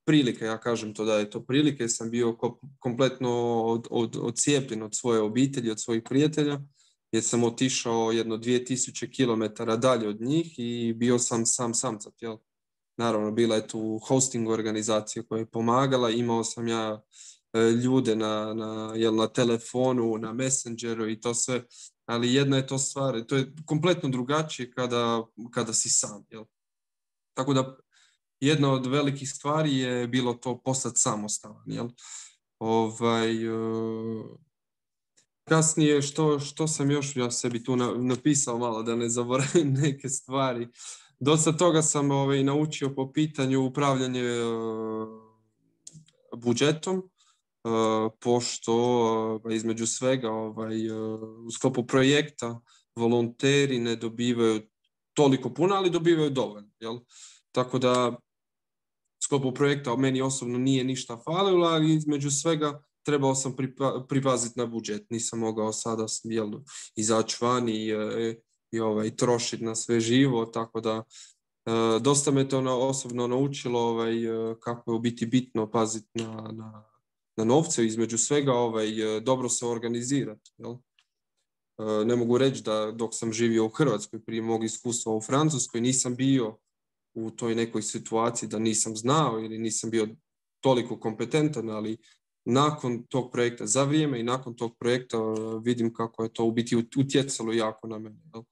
prilike, ja kažem to da je to prilike, sam bio kompletno od, od, odcijepljen od svoje obitelji, od svojih prijatelja, jer sam otišao jedno dvije tisuće kilometara dalje od njih i bio sam sam samcat, jel. Naravno, bila je tu hosting organizacija koja je pomagala, imao sam ja e, ljude na, na, jel, na telefonu, na Messengeru i to sve, ali jedna je to stvar, to je kompletno drugačije kada, kada si sam, jel. Tako da jedna od velikih stvari je bilo to postati samostalan, jel. Ovaj, uh, kasnije, što, što sam još ja sebi tu na, napisao malo da ne zaboravim neke stvari. Dosta toga sam ovaj, naučio po pitanju upravljanja uh, budžetom, uh, pošto uh, između svega ovaj, uh, u sklopu projekta volonteri ne dobivaju toliko puno, ali dobivaju dovoljno, jel. Tako da u sklopu projekta meni osobno nije ništa falilo, ali između svega trebao sam pripa, pripaziti na budžet. Nisam mogao sada jel, izaći van i, i ovaj, trošiti na sve živo, tako da e, dosta me to na, osobno naučilo ovaj, kako je u biti bitno paziti na, na, na novce, između svega ovaj, dobro se organizirati. Jel? E, ne mogu reći da dok sam živio u Hrvatskoj, prije mog iskustva u Francuskoj, nisam bio u toj nekoj situaciji da nisam znao ili nisam bio toliko kompetentan, ali nakon tog projekta, za vrijeme i nakon tog projekta vidim kako je to u biti utjecalo jako na mene. Jel?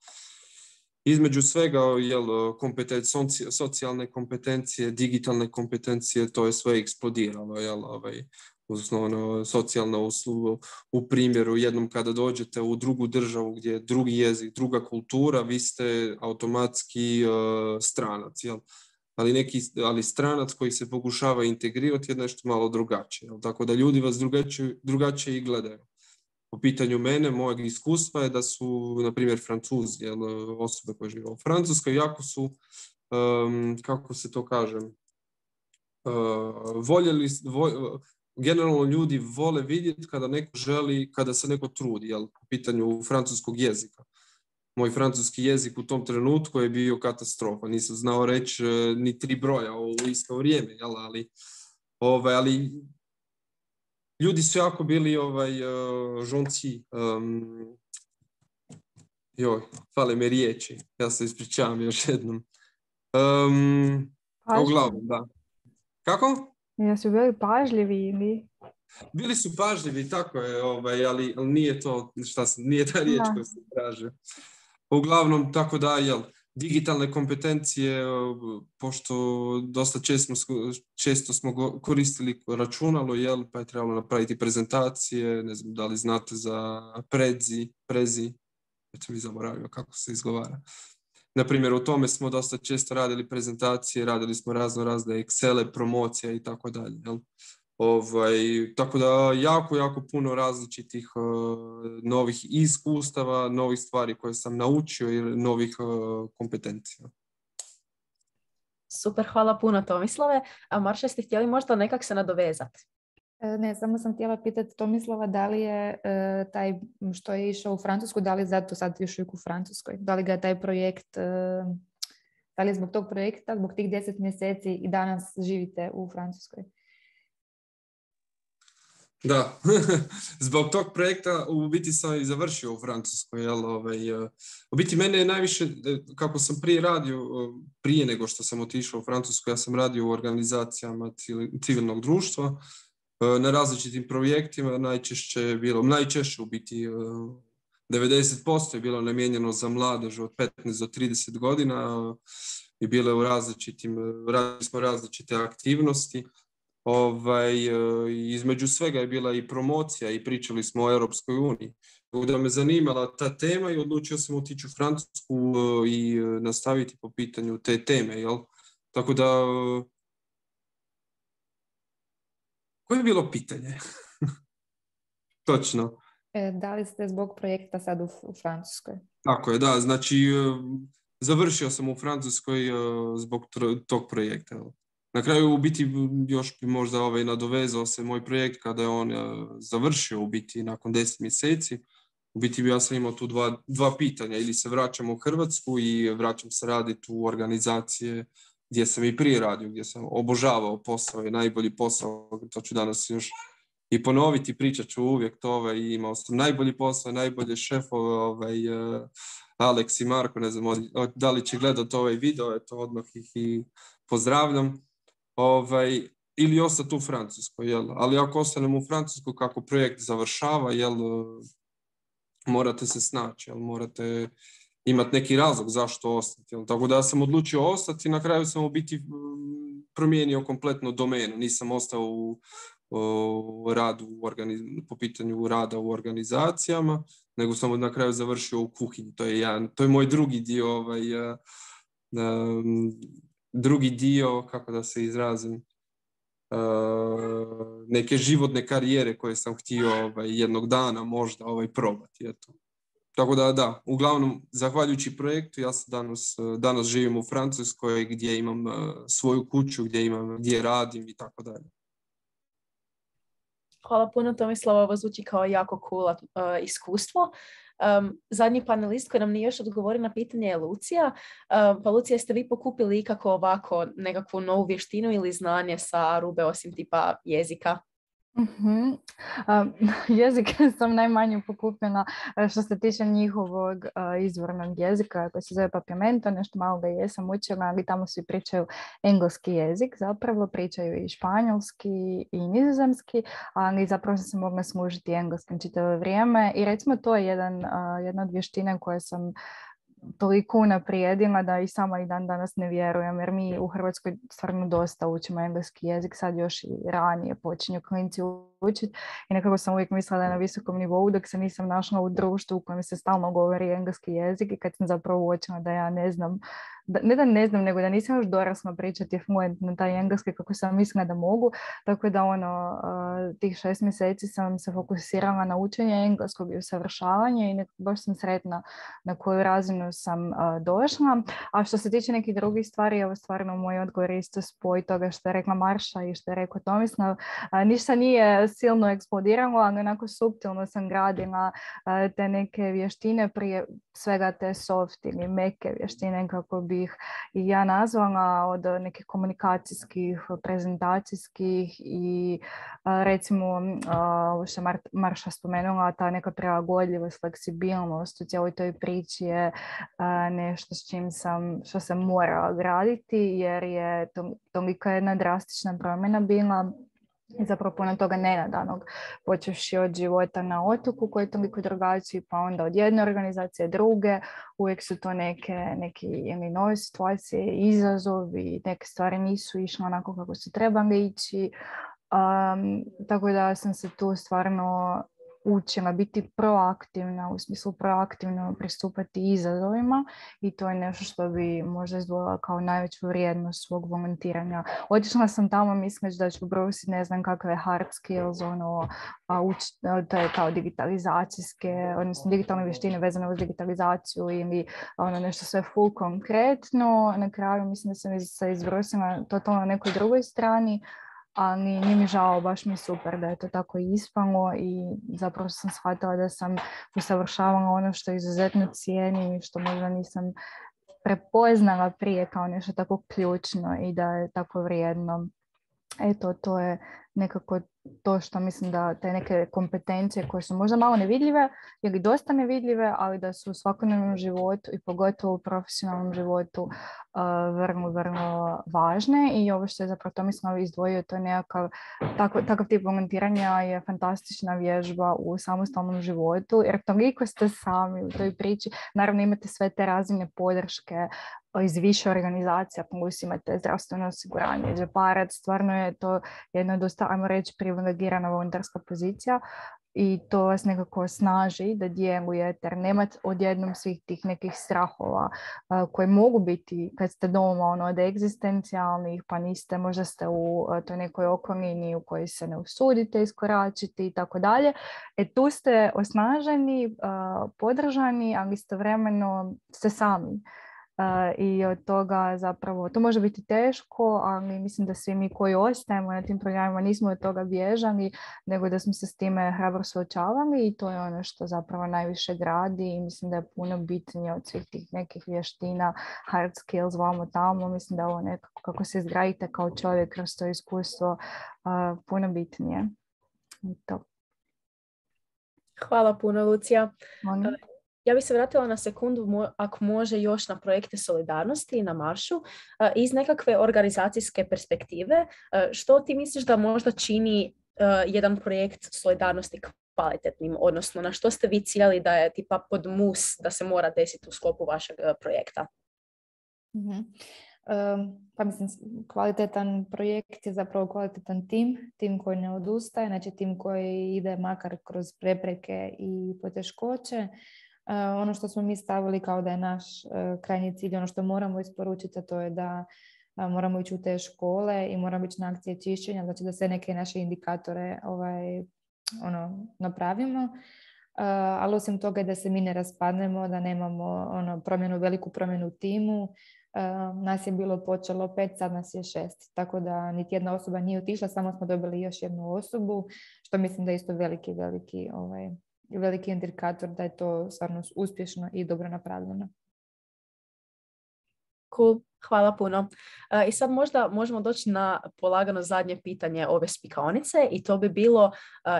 Između svega, jel, kompetencije, socijalne kompetencije, digitalne kompetencije, to je sve eksplodiralo. Jel, ovaj, osnovno, socijalna usluga, u primjeru, jednom kada dođete u drugu državu gdje je drugi jezik, druga kultura, vi ste automatski uh, stranac. Jel? Ali, neki, ali stranac koji se pokušava integrirati je nešto malo drugačije. Jel? Tako da ljudi vas drugačije, drugačije i gledaju. Po pitanju mene, mojeg iskustva je da su, na primjer, Francuzi, jel, osobe koje žive u Francuskoj, jako su, um, kako se to kaže, uh, voljeli, vo, generalno ljudi vole vidjeti kada neko želi, kada se neko trudi, jel, po pitanju francuskog jezika. Moj francuski jezik u tom trenutku je bio katastrofa. Nisam znao reći uh, ni tri broja u isto vrijeme, jel, ali, ovaj, ali ljudi su jako bili ovaj, uh, žonci. Um, joj, fale me riječi. Ja se ispričavam još jednom. Um, uglavnom, da. Kako? Jesu bili pažljivi ili? Bili su pažljivi, tako je, ovaj, ali, ali nije to, šta sam, nije ta riječ koju se traže. Uglavnom, tako da, jel, digitalne kompetencije, pošto dosta često, često smo koristili računalo, jel, pa je trebalo napraviti prezentacije, ne znam da li znate za Prezi, Prezi, već mi zaboravio kako se izgovara. Naprimjer, u tome smo dosta često radili prezentacije, radili smo razno razne Excele, promocija i tako dalje, jel. Ovaj, tako da jako, jako puno različitih uh, novih iskustava, novih stvari koje sam naučio i novih uh, kompetencija. Super, hvala puno Tomislave. A Marša, ste htjeli možda nekak se nadovezati? Ne, samo sam htjela pitati Tomislava da li je e, taj što je išao u Francusku, da li je zato sad još uvijek u Francuskoj? Da li ga je taj projekt, e, da li je zbog tog projekta, zbog tih deset mjeseci i danas živite u Francuskoj? Da, zbog tog projekta u biti sam i završio u Francuskoj. Jel, ovaj, u biti mene je najviše, kako sam prije radio, prije nego što sam otišao u Francusku, ja sam radio u organizacijama civilnog društva, na različitim projektima, najčešće je bilo, najčešće u biti devedeset posto je bilo namijenjeno za mladež od petnaest do trideset godina i bile u različitim, radili smo različite aktivnosti. Ovaj, između svega je bila i promocija i pričali smo o Europskoj uniji. Da me zanimala ta tema i odlučio sam otići u Francusku i nastaviti po pitanju te teme. Jel? Tako da, koje je bilo pitanje? Točno. E, da li ste zbog projekta sad u, u Francuskoj? Tako je, da. Znači, završio sam u Francuskoj zbog tog projekta. Jel? Na kraju u biti još bi možda ovaj nadovezao se moj projekt kada je on uh, završio u biti nakon deset mjeseci. u biti ja sam imao tu dva, dva pitanja, ili se vraćam u Hrvatsku i vraćam se raditi u organizacije gdje sam i prije radio, gdje sam obožavao posao i najbolji posao, to ću danas još i ponoviti, pričat ću uvijek to, ovaj, imao sam najbolji posao, najbolje šefove, ovaj, uh, Alex i Marko, ne znam da li će gledati ovaj video, eto odmah ih i pozdravljam, ovaj, ili ostati u Francuskoj, jel? Ali ako ostanem u Francuskoj, kako projekt završava, jel, morate se snaći, jel, morate imati neki razlog zašto ostati, jel? Tako da sam odlučio ostati i na kraju sam u biti promijenio kompletno domenu, nisam ostao u o radu u organiz- po pitanju rada u organizacijama, nego sam na kraju završio u kuhinji. To je, jedan, to je moj drugi dio, ovaj, uh, um, drugi dio, kako da se izrazim, uh, neke životne karijere koje sam htio ovaj, jednog dana možda ovaj, probati. Eto. Tako da, da, uglavnom, zahvaljujući projektu, ja sam danas, danas živim u Francuskoj gdje imam uh, svoju kuću, gdje, imam, gdje radim i tako dalje. Hvala puno, Tomislava, ovo zvuči kao jako cool uh, iskustvo. Um, zadnji panelist koji nam nije još odgovorio na pitanje je Lucija. Um, pa Lucija, jeste vi pokupili ikako ovako nekakvu novu vještinu ili znanje sa Arube osim tipa jezika? Mm-hmm. Um, jezik sam najmanje pokupila što se tiče njihovog uh, izvornog jezika koji se zove Papiamento, nešto malo ga jesam učila, ali tamo svi pričaju engleski jezik, zapravo pričaju i španjolski i nizozemski, ali zapravo sam se mogla služiti engleskim čitavo vrijeme i recimo to je jedan, uh, jedna od vještina koje sam toliko unaprijedila da i sama i dan danas ne vjerujem, jer mi u Hrvatskoj stvarno dosta učimo engleski jezik, sad još i ranije počinju klinci učiti i nekako sam uvijek mislila da je na visokom nivou dok se nisam našla u društvu u kojem se stalno govori engleski jezik i kad sam zapravo uočila da ja ne znam, da, ne da ne znam, nego da nisam još dorasla pričati fluentno taj engleski kako sam mislila da mogu, tako da ono, uh, tih šest mjeseci sam se fokusirala na učenje engleskog i usavršavanje i nekako baš sam sretna na koju razinu sam uh, došla. A što se tiče nekih drugih stvari, evo stvarno moj odgovor isto spoj toga što je rekla Marša i što je rekao Tomislav. Uh, ništa nije silno eksplodiralo, ali onako suptilno sam gradila uh, te neke vještine, prije svega te soft ili meke vještine, kako bih i ja nazvala, od nekih komunikacijskih, prezentacijskih i uh, recimo ovo što je Mar- Marša spomenula, ta neka prilagodljivost, fleksibilnost u cijeloj toj priči je uh, nešto s čim sam, što sam morala graditi, jer je to, tolika jedna drastična promjena bila i zapravo puno toga nenadanog, počevši od života na otoku koji je toliko drugačiji, pa onda od jedne organizacije druge, uvijek su to neke, neke ili nove situacije, izazovi, neke stvari nisu išle onako kako su trebali ići, um, tako da sam se tu stvarno učila biti proaktivna, u smislu proaktivno pristupati izazovima i to je nešto što bi možda izdvojila kao najveću vrijednost svog volontiranja. Otišla sam tamo misleći da ću brusiti ne znam kakve hard skills, ono, a uč, to je kao digitalizacijske, odnosno digitalne vještine vezane uz digitalizaciju ili ono nešto sve full konkretno. Na kraju mislim da sam se izbrusila totalno na nekoj drugoj strani, ali nije mi žao, baš mi je super da je to tako ispalo i zapravo sam shvatila da sam usavršavala ono što izuzetno cijenim i što možda nisam prepoznala prije kao nešto tako ključno i da je tako vrijedno. Eto, to je nekako to što mislim da te neke kompetencije koje su možda malo nevidljive ili dosta nevidljive, ali da su u svakodnevnom životu i pogotovo u profesionalnom životu uh, vrlo, vrlo važne. I ovo što je zapravo Tomislav izdvojio, to je nekakav tako, takav tip volontiranja je fantastična vježba u samostalnom životu, jer toliko ste sami u toj priči. Naravno imate sve te razine podrške iz više organizacija, plus imate zdravstveno osiguranje, džeparac, stvarno je to jedna dosta, ajmo reći, privilegirana volonterska pozicija i to vas nekako snaži da djelujete, jer nemate odjednom svih tih nekih strahova uh, koje mogu biti kad ste doma, ono, od egzistencijalnih, pa niste, možda ste u uh, toj nekoj okolini u kojoj se ne usudite iskoračiti i tako dalje. E tu ste osnaženi, uh, podržani, ali istovremeno ste sami. i od toga zapravo, to može biti teško, ali mislim da svi mi koji ostajemo na tim programima nismo od toga bježali, nego da smo se s time hrabro suočavali i to je ono što zapravo najviše gradi i mislim da je puno bitnije od svih tih nekih vještina, hard skills, vamo tamo, mislim da je ovo nekako kako se izgradite kao čovjek kroz to iskustvo uh, puno bitnije. I to. Hvala puno, Lucija. Molim. Ja bih se vratila na sekundu, ako može, još na projekte solidarnosti na Maršu. Iz nekakve organizacijske perspektive, što ti misliš da možda čini jedan projekt solidarnosti kvalitetnim, odnosno na što ste vi ciljali da je tipa pod mus da se mora desiti u sklopu vašeg projekta? Mm-hmm. Um, pa mislim, kvalitetan projekt je zapravo kvalitetan tim, tim koji ne odustaje, znači tim koji ide makar kroz prepreke i poteškoće. Uh, ono što smo mi stavili kao da je naš uh, krajnji cilj, ono što moramo isporučiti, a to je da uh, moramo ići u te škole i moramo ići na akcije čišćenja, znači da sve neke naše indikatore ovaj, ono, napravimo. Uh, ali osim toga da se mi ne raspadnemo, da nemamo ono, promjenu, veliku promjenu u timu. Uh, nas je bilo počelo pet, sad nas je šest, tako da niti jedna osoba nije otišla, samo smo dobili još jednu osobu, što mislim da je isto veliki, veliki ovaj, veliki indikator da je to stvarno uspješno i dobro napravljeno. Cool, hvala puno. Uh, I sad možda možemo doći na polagano zadnje pitanje ove spikaonice i to bi bilo uh,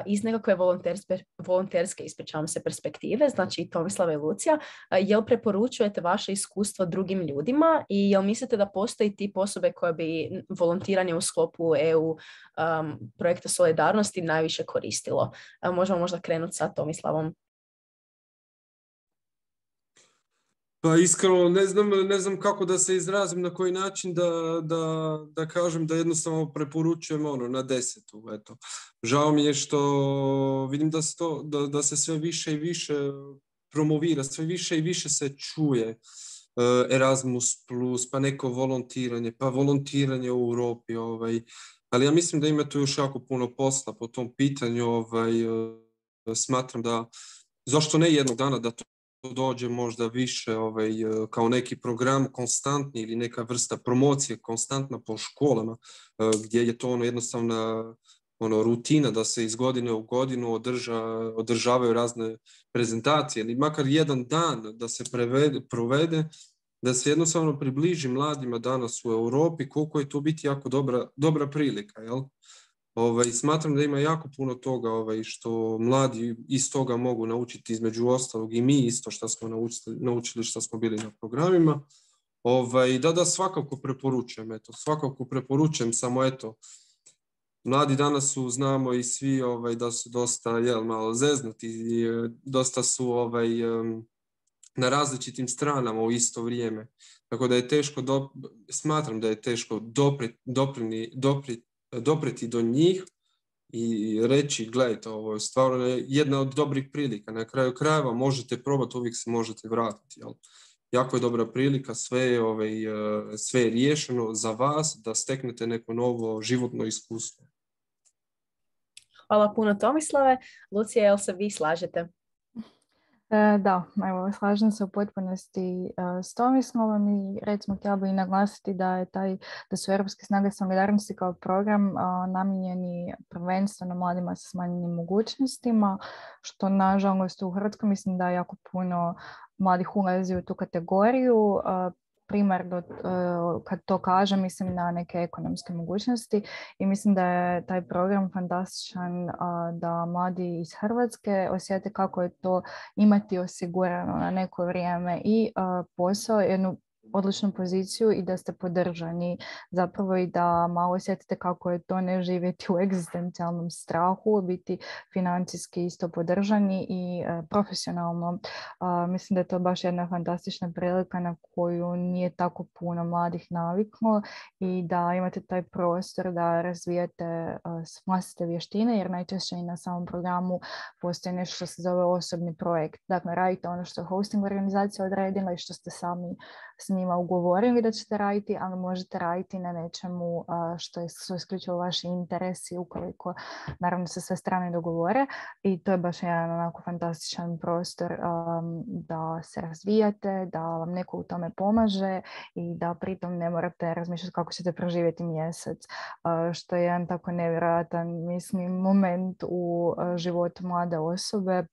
iz nekakve volonterske, volonterske ispričavam se, perspektive, znači Tomislava i Lucija, uh, jel preporučujete vaše iskustvo drugim ljudima i jel mislite da postoji tip osobe koje bi volontiranje u sklopu E U um, projekta solidarnosti najviše koristilo? Uh, možemo možda krenuti sa Tomislavom. Pa iskreno ne znam, ne znam kako da se izrazim, na koji način da, da, da kažem da jednostavno preporučujem ono na desetu. Eto. Žao mi je što vidim da se, to, da, da se sve više i više promovira, sve više i više se čuje Erasmus plus, pa neko volontiranje, pa volontiranje u Europi. Ovaj. Ali ja mislim da ima tu još jako puno posla po tom pitanju. Ovaj, smatram da, zašto ne jednog dana da to dođe možda više ovaj, kao neki program konstantni ili neka vrsta promocije konstantna po školama gdje je to ono jednostavna ono, rutina da se iz godine u godinu održa, održavaju razne prezentacije ili makar jedan dan da se prevede, provede, da se jednostavno približi mladima danas u Europi koliko je to biti jako dobra, dobra prilika, jel? Ovaj, smatram da ima jako puno toga ovaj, što mladi iz toga mogu naučiti, između ostalog i mi isto što smo naučili, naučili što smo bili na programima. Ovaj, da, da, svakako preporučujem, eto, svakako preporučujem, samo eto, mladi danas su, znamo i svi ovaj, da su dosta, jel, malo zeznuti i dosta su ovaj, um, na različitim stranama u isto vrijeme. Tako da je teško, do, smatram da je teško dopri, doprini, dopri, dopreti do njih i reći, gledajte, ovo je stvarno jedna od dobrih prilika. Na kraju krajeva možete probati, uvijek se možete vratiti. Jel? Jako je dobra prilika, sve je, ovaj, sve je riješeno za vas da steknete neko novo životno iskustvo. Hvala puno, Tomislave. Lucija, jel se vi slažete? E, da, evo, slažem se u potpunosti uh, s Tomislavom i recimo htjela bih naglasiti da je taj, da su Europske snage solidarnosti kao program uh, namijenjeni prvenstveno mladima sa smanjenim mogućnostima, što nažalost u Hrvatskoj mislim da jako puno mladih ulazi u tu kategoriju. Uh, primarno uh, kad to kažem mislim na neke ekonomske mogućnosti i mislim da je taj program fantastičan uh, da mladi iz Hrvatske osjete kako je to imati osigurano na neko vrijeme i uh, posao, jednu odličnu poziciju i da ste podržani zapravo i da malo osjetite kako je to ne živjeti u egzistencijalnom strahu, biti financijski isto podržani i e, profesionalno. A, mislim da je to baš jedna fantastična prilika na koju nije tako puno mladih naviklo i da imate taj prostor da razvijete vlastite vještine jer najčešće i na samom programu postoji nešto što se zove osobni projekt. Dakle, radite ono što je hosting organizacija odredila i što ste sami s njima njima ugovorili da ćete raditi, ali možete raditi na nečemu uh, što je su isključivo vaši interesi ukoliko naravno se sve strane dogovore i to je baš jedan onako fantastičan prostor um, da se razvijate, da vam neko u tome pomaže i da pritom ne morate razmišljati kako ćete proživjeti mjesec, uh, što je jedan tako nevjerojatan mislim moment u uh, životu mlade osobe.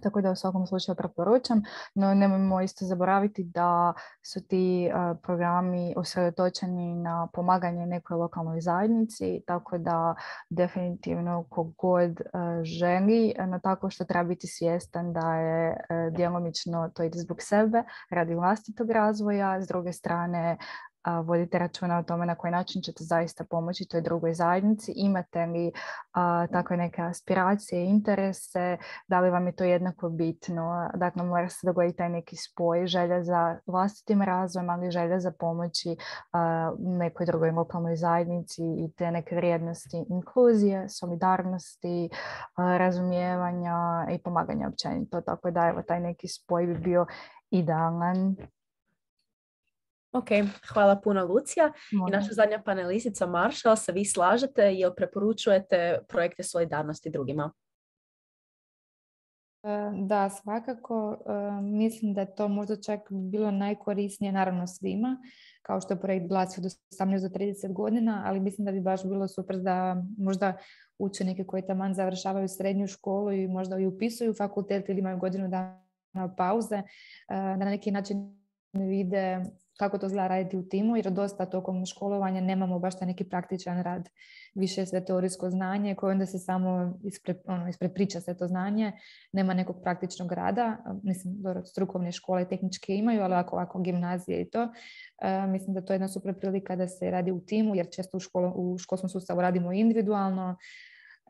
Tako da u svakom slučaju preporučam, no nemojmo isto zaboraviti da su ti uh, programi usredotočeni na pomaganje nekoj lokalnoj zajednici, tako da definitivno kogod uh, želi, no tako što treba biti svjestan da je uh, djelomično to ide zbog sebe, radi vlastitog razvoja, s druge strane a, vodite računa o tome na koji način ćete zaista pomoći toj drugoj zajednici. Imate li a, takve neke aspiracije, interese, da li vam je to jednako bitno? Dakle, mora se dogoditi taj neki spoj, želja za vlastitim razvojem, ali želja za pomoći a, nekoj drugoj lokalnoj zajednici i te neke vrijednosti inkluzije, solidarnosti, a, razumijevanja i pomaganja općenito. Tako da evo, taj neki spoj bi bio idealan. Ok, hvala puno Lucija. Može. I naša zadnja panelistica Marša, se vi slažete, jel preporučujete projekte solidarnosti drugima? Da, svakako. Mislim da je to možda čak bilo najkorisnije naravno svima, kao što je projekt Glasi od osamnaest do trideset godina, ali mislim da bi baš bilo super da možda učenike koji taman završavaju srednju školu i možda i upisuju fakultet ili imaju godinu dana pauze, da na neki način vide kako to izgleda raditi u timu, jer dosta tokom školovanja nemamo baš taj neki praktičan rad, više sve teorijsko znanje koje onda se samo ispre, ono, isprepriča sve to znanje, nema nekog praktičnog rada. Mislim, dobro, strukovne škole i tehničke imaju, ali ovako, ovako gimnazije i to. Uh, mislim da to je jedna super prilika da se radi u timu, jer često u, školo, u školskom sustavu radimo individualno.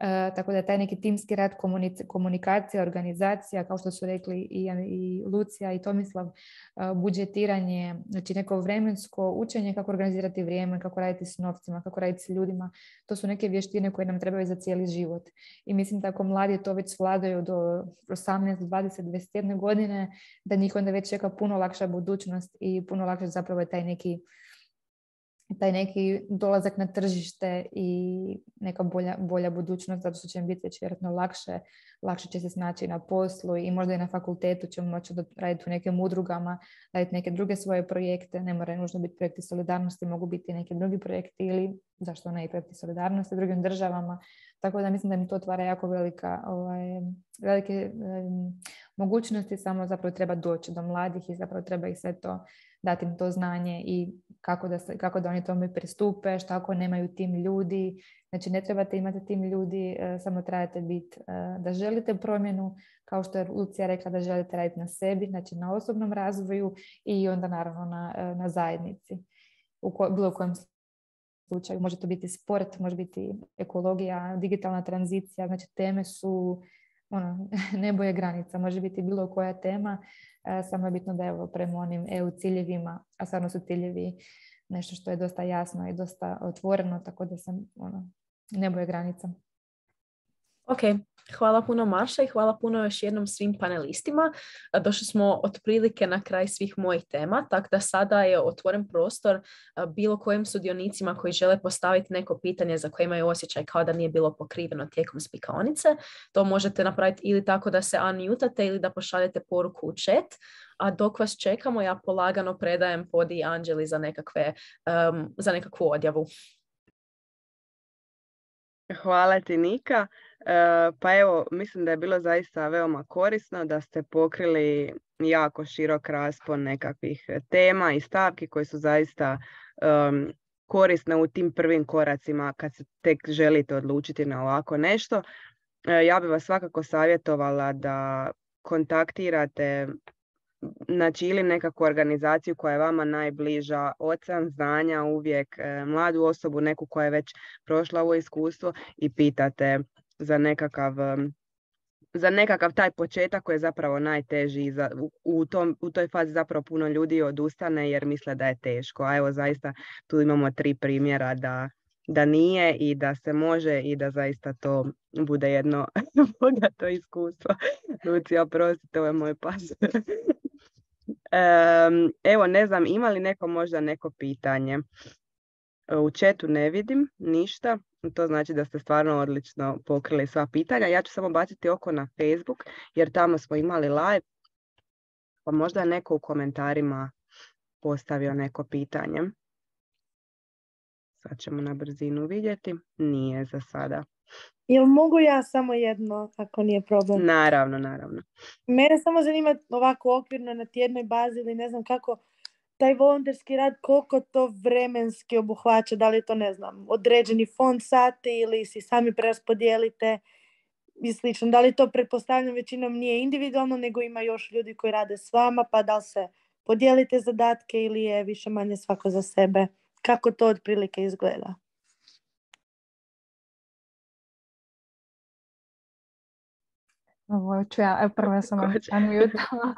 Uh, tako da taj neki timski rad, komunic- komunikacija, organizacija, kao što su rekli i, i Lucija i Tomislav, uh, budžetiranje, znači neko vremensko učenje, kako organizirati vrijeme, kako raditi s novcima, kako raditi s ljudima, to su neke vještine koje nam trebaju za cijeli život. I mislim da ako mladi to već svladaju do osamnaest, dvadeset, dvadeset jedne godine, da njih onda već čeka puno lakša budućnost i puno lakše zapravo je taj neki taj neki dolazak na tržište i neka bolja, bolja budućnost, zato što će im biti već vjerojatno lakše, lakše će se snaći na poslu i možda i na fakultetu ćemo moći raditi u nekim udrugama, raditi neke druge svoje projekte, ne moraju nužno biti projekti solidarnosti, mogu biti neki drugi projekti ili zašto ne i projekti solidarnosti u drugim državama, tako da mislim da mi to otvara jako velika, ovaj, velike um, mogućnosti, samo zapravo treba doći do mladih i zapravo treba ih sve to dati im to znanje i kako da, se, kako da oni tome pristupe, što ako nemaju tim ljudi. Znači ne trebate imati tim ljudi, samo trebate biti da želite promjenu, kao što je Lucija rekla da želite raditi na sebi, znači na osobnom razvoju i onda naravno na, na zajednici. U ko, bilo kojem slučaju može to biti sport, može biti ekologija, digitalna tranzicija, znači teme su ono, nebo je granica, može biti bilo koja tema, samo je bitno da evo prema onim E U ciljevima, a stvarno su ciljevi nešto što je dosta jasno i dosta otvoreno, tako da sam ono, nebo je granica. Ok, hvala puno Marša i hvala puno još jednom svim panelistima. Došli smo otprilike na kraj svih mojih tema, tako da sada je otvoren prostor bilo kojim sudionicima koji žele postaviti neko pitanje za koje imaju osjećaj kao da nije bilo pokriveno tijekom spikaonice. To možete napraviti ili tako da se unmutate ili da pošaljete poruku u chat. A dok vas čekamo, ja polagano predajem Podi i Anđeli za, nekakve, um, za nekakvu odjavu. Hvala ti Nika. E, pa evo, mislim da je bilo zaista veoma korisno da ste pokrili jako širok raspon nekakvih tema i stavki koje su zaista um, korisne u tim prvim koracima kad se tek želite odlučiti na ovako nešto. E, ja bih vas svakako savjetovala da kontaktirate znači ili nekakvu organizaciju koja je vama najbliža, ocean znanja uvijek, e, mladu osobu, neku koja je već prošla ovo iskustvo i pitate za nekakav, za nekakav taj početak koji je zapravo najteži. Za, u, u, tom, u toj fazi zapravo puno ljudi odustane jer misle da je teško. A evo zaista tu imamo tri primjera da, da nije i da se može i da zaista to bude jedno bogato iskustvo. Lucija, prostite, ovo je moj pas. Um, evo, ne znam, ima li neko možda neko pitanje? U chatu ne vidim ništa, to znači da ste stvarno odlično pokrili sva pitanja. Ja ću samo baciti oko na Facebook, jer tamo smo imali live, pa možda je neko u komentarima postavio neko pitanje. Sad ćemo na brzinu vidjeti. Nije za sada. Jel mogu ja samo jedno, ako nije problem? Naravno, naravno. Mene samo zanima ovako okvirno na tjednoj bazi ili ne znam kako taj volonterski rad, koliko to vremenski obuhvaća, da li je to, ne znam, određeni fond sati ili si sami preraspodijelite i slično. Da li to, pretpostavljam, većinom nije individualno, nego ima još ljudi koji rade s vama, pa da li se podijelite zadatke ili je više manje svako za sebe? Kako to otprilike izgleda? Ovo ću ja, prvo sam unmutala,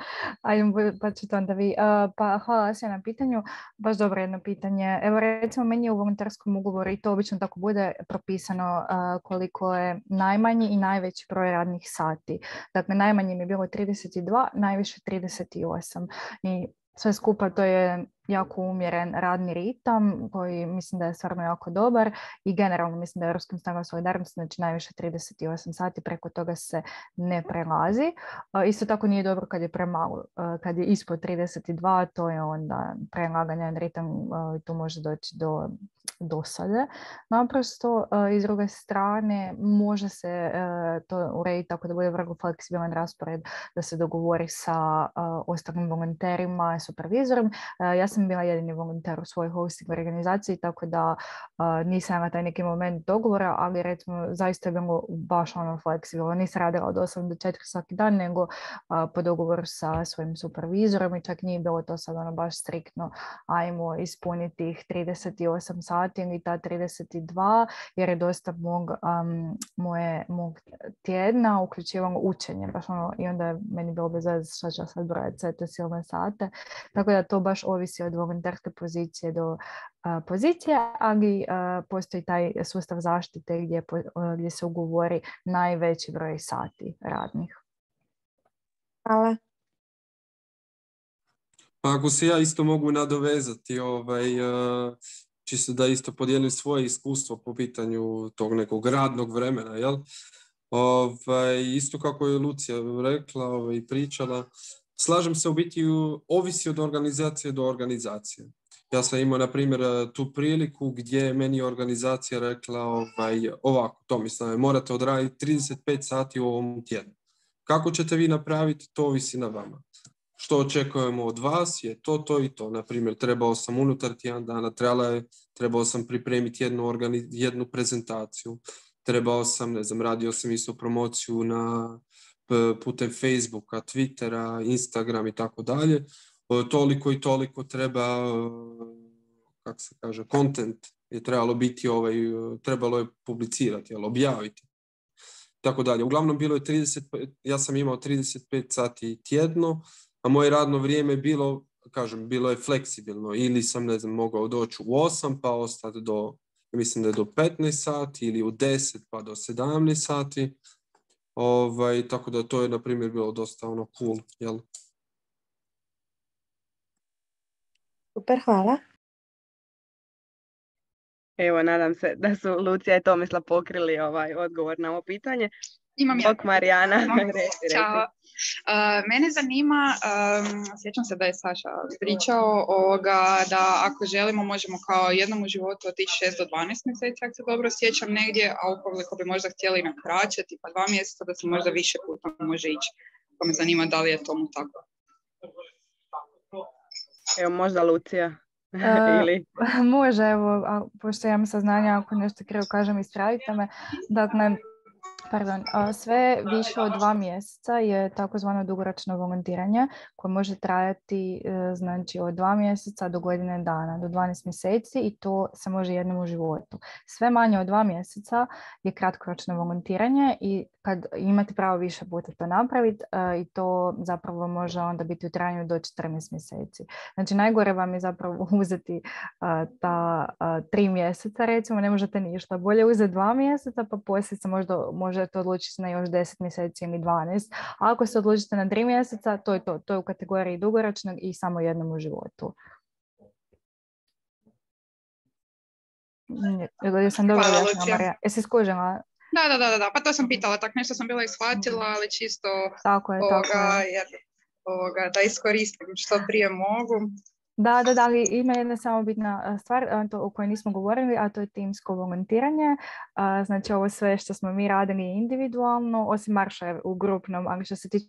pa ćete onda vi. Uh, pa hvala se na pitanju, baš dobro jedno pitanje. Evo recimo meni je u volonterskom ugovoru i to obično tako bude propisano uh, koliko je najmanji i najveći broj radnih sati. Dakle, najmanje mi je bilo trideset dva, najviše trideset osam i sve skupa to je jako umjeren radni ritam koji mislim da je stvarno jako dobar i generalno mislim da je Europskim snagama solidarnosti znači najviše trideset osam sati, preko toga se ne prelazi. Uh, isto tako nije dobro kad je premalo. Uh, kad je ispod trideset dva to je onda prelaganje na ritam, uh, tu može doći do dosade. Naprosto, uh, iz druge strane može se uh, to urediti tako da bude vrlo fleksibilan raspored, da se dogovori sa uh, ostalim volonterima, supervizorom. Uh, ja sam bila jedini volonter u svojoj hosting organizaciji, tako da uh, nisam na taj neki moment dogovora, ali recimo zaista je bilo baš ono fleksibilno. Nisam radila od osam do četiri svaki dan, nego uh, po dogovoru sa svojim supervizorom i čak nije bilo to sad ono baš striktno ajmo ispuniti ih trideset osam sati ili ta trideset dva, jer je dosta mog, um, moje, mog tjedna uključivalo učenje. Baš ono, i onda je meni bilo bez veze šta ću sad brojati sve te silne sate. Tako da to baš ovisi od volonterske pozicije do uh, pozicije, ali uh, postoji taj sustav zaštite gdje, uh, gdje se ugovori najveći broj sati radnih. Hvala. Ako se ja isto mogu nadovezati, ovaj, uh, čisto da isto podijelim svoje iskustvo po pitanju tog nekog radnog vremena, jel? Ovaj, isto kako je Lucija rekla i ovaj, pričala, slažem se, u biti ovisi od organizacije do organizacije. Ja sam imao, na primjer, tu priliku gdje je meni organizacija rekla ovaj, ovako, Tomislave, morate odraditi trideset pet sati u ovom tjednu. Kako ćete vi napraviti, to ovisi na vama. Što očekujemo od vas je to, to i to. Na primjer, trebao sam unutar tjedan dana, trebala je, trebao sam pripremiti jednu, organi- jednu prezentaciju. Trebao sam, ne znam, radio sam isto promociju na putem Facebooka, Twittera, Instagram i tako dalje. Toliko i toliko treba, kako se kaže, content je trebalo biti, ovaj, trebalo je publicirati, jel, objaviti. Tako dalje. Uglavnom bilo je trideset, ja sam imao trideset pet sati tjedno, a moje radno vrijeme je bilo, kažem, bilo je fleksibilno. Ili sam, ne znam, mogao doći u osam pa ostati do, mislim da je do petnaest sati, ili u deset pa do sedamnaest sati. Ovaj, tako da to je, na primjer, bilo dosta ono cool, jel? Super, hvala. Evo, nadam se da su Lucija i Tomislav pokrili ovaj odgovor na ovo pitanje. Imam ja. Bok Marijana, reci, Ćao. reci. Uh, mene zanima, um, sjećam se da je Saša pričao ovoga, da ako želimo možemo kao jednom u životu otići šest do dvanaest mjeseci, ako se dobro sjećam negdje, a ukoliko bi možda htjeli na kraće, tipa dva mjeseca, da se možda više puta može ići. Pa me zanima da li je tomu tako. Evo, možda Lucija. Ili... Uh, može, evo, a, pošto imam saznanja, ako nešto krivo kažem, ispravite me. Dakle, Pardon, sve više od dva mjeseca je takozvano dugoročno volontiranje koje može trajati znači od dva mjeseca do godine dana, do dvanaest mjeseci i to se može jednom u životu. Sve manje od dva mjeseca je kratkoročno volontiranje i kad imate pravo više puta to napraviti uh, i to zapravo može onda biti u trajanju do četrnaest mjeseci. Znači najgore vam je zapravo uzeti uh, ta uh, tri mjeseca, recimo ne možete ništa. Bolje uzeti dva mjeseca pa poslije se možda možete odlučiti na još deset mjeseci ili dvanaest. A ako se odlučite na tri mjeseca, to je to. To je u kategoriji dugoročnog i samo jednom u životu. Jesam dobro objasnila, Marija. Jesi skužila? Da, da, da, da, pa to sam pitala, tak nešto sam bila ishvatila, ali čisto tako je, ovoga, tako je. Jer, ovoga, da iskoristim što prije mogu. Da, da, da, ali ima jedna samo bitna stvar to, o kojoj nismo govorili, a to je timsko volontiranje. A, znači ovo sve što smo mi radili individualno, osim marša u grupnom, ali što se tiče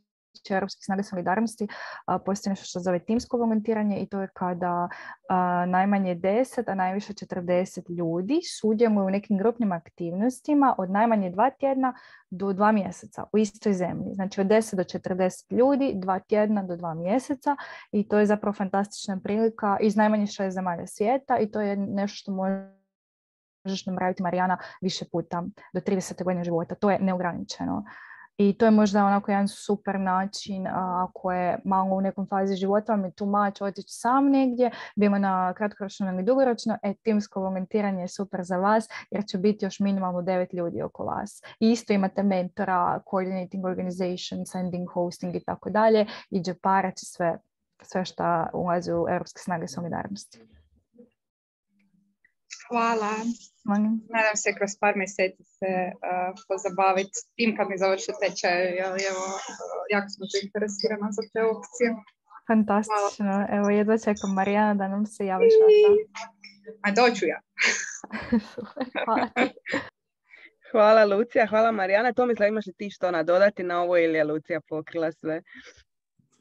Europskih snaga solidarnosti, a, postoji nešto što zove timsko volontiranje i to je kada a, najmanje deset, a najviše četrdeset ljudi sudjeluju u nekim grupnim aktivnostima od najmanje dva tjedna do dva mjeseca u istoj zemlji. Znači od deset do četrdeset ljudi, dva tjedna do dva mjeseca i to je zapravo fantastična prilika iz najmanje šest zemalja svijeta i to je nešto što možeš napraviti, Marijana, više puta do tridesete godine života. To je neograničeno. I to je možda onako jedan super način a, ako je malo u nekom fazi života vam je too much otići sam negdje, bilo na kratkoročno ili dugoročno, e, timsko volontiranje je super za vas jer će biti još minimalno devet ljudi oko vas. I isto imate mentora, coordinating organization, sending, hosting i tako dalje i džeparac i sve, sve što ulazi u Europske snage solidarnosti. Hvala. Molim. Nadam se kroz par mjeseci se uh, pozabaviti tim kad mi završi tečaj, jer evo, uh, jako smo zainteresirana za te opcije. Fantastično. Hvala. Evo, jedva čekam, Marijana, da nam se javiš. A doću ja. Hvala. Hvala Lucija, hvala Marijana. Tomislav, imaš li ti što nadodati na ovo ili je Lucija pokrila sve?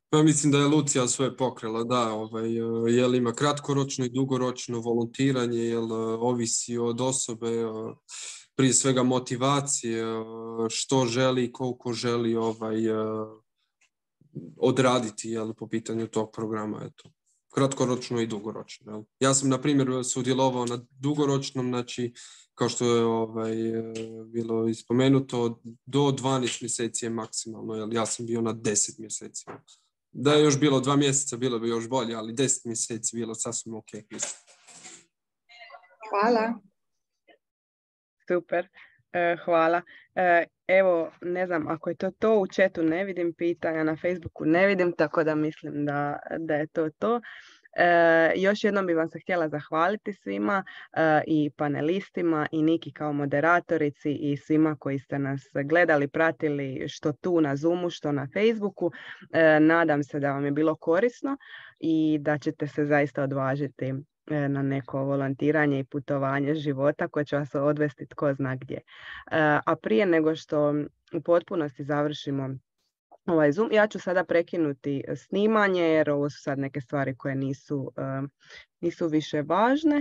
Pa mislim da je Lucija sve pokrila, da, ovaj, jel ima kratkoročno i dugoročno volontiranje, jel ovisi od osobe, prije svega motivacije, što želi, koliko želi ovaj, odraditi, jel, po pitanju tog programa, eto. Kratkoročno i dugoročno. Jel. Ja sam, na primjer, sudjelovao na dugoročnom, znači, kao što je ovaj, bilo ispomenuto, do dvanaest mjeseci je maksimalno, jel. Ja sam bio na deset mjeseci. Jel. Da je još bilo dva mjeseca, bilo bi još bolje, ali deset mjeseci bilo sasvim ok. Mislim. Hvala. Super, e, hvala. E, evo, ne znam, ako je to to, u chatu ne vidim pitanja, na Facebooku ne vidim, tako da mislim da, da je to to. E, još jednom bih vam se htjela zahvaliti svima e, i panelistima i Niki kao moderatorici i svima koji ste nas gledali, pratili što tu na Zoomu, što na Facebooku. E, nadam se da vam je bilo korisno i da ćete se zaista odvažiti e, na neko volontiranje i putovanje života koje će vas odvesti tko zna gdje. E, a prije nego što u potpunosti završimo ovaj Zoom, ja ću sada prekinuti snimanje jer ovo su sad neke stvari koje nisu, uh, nisu više važne.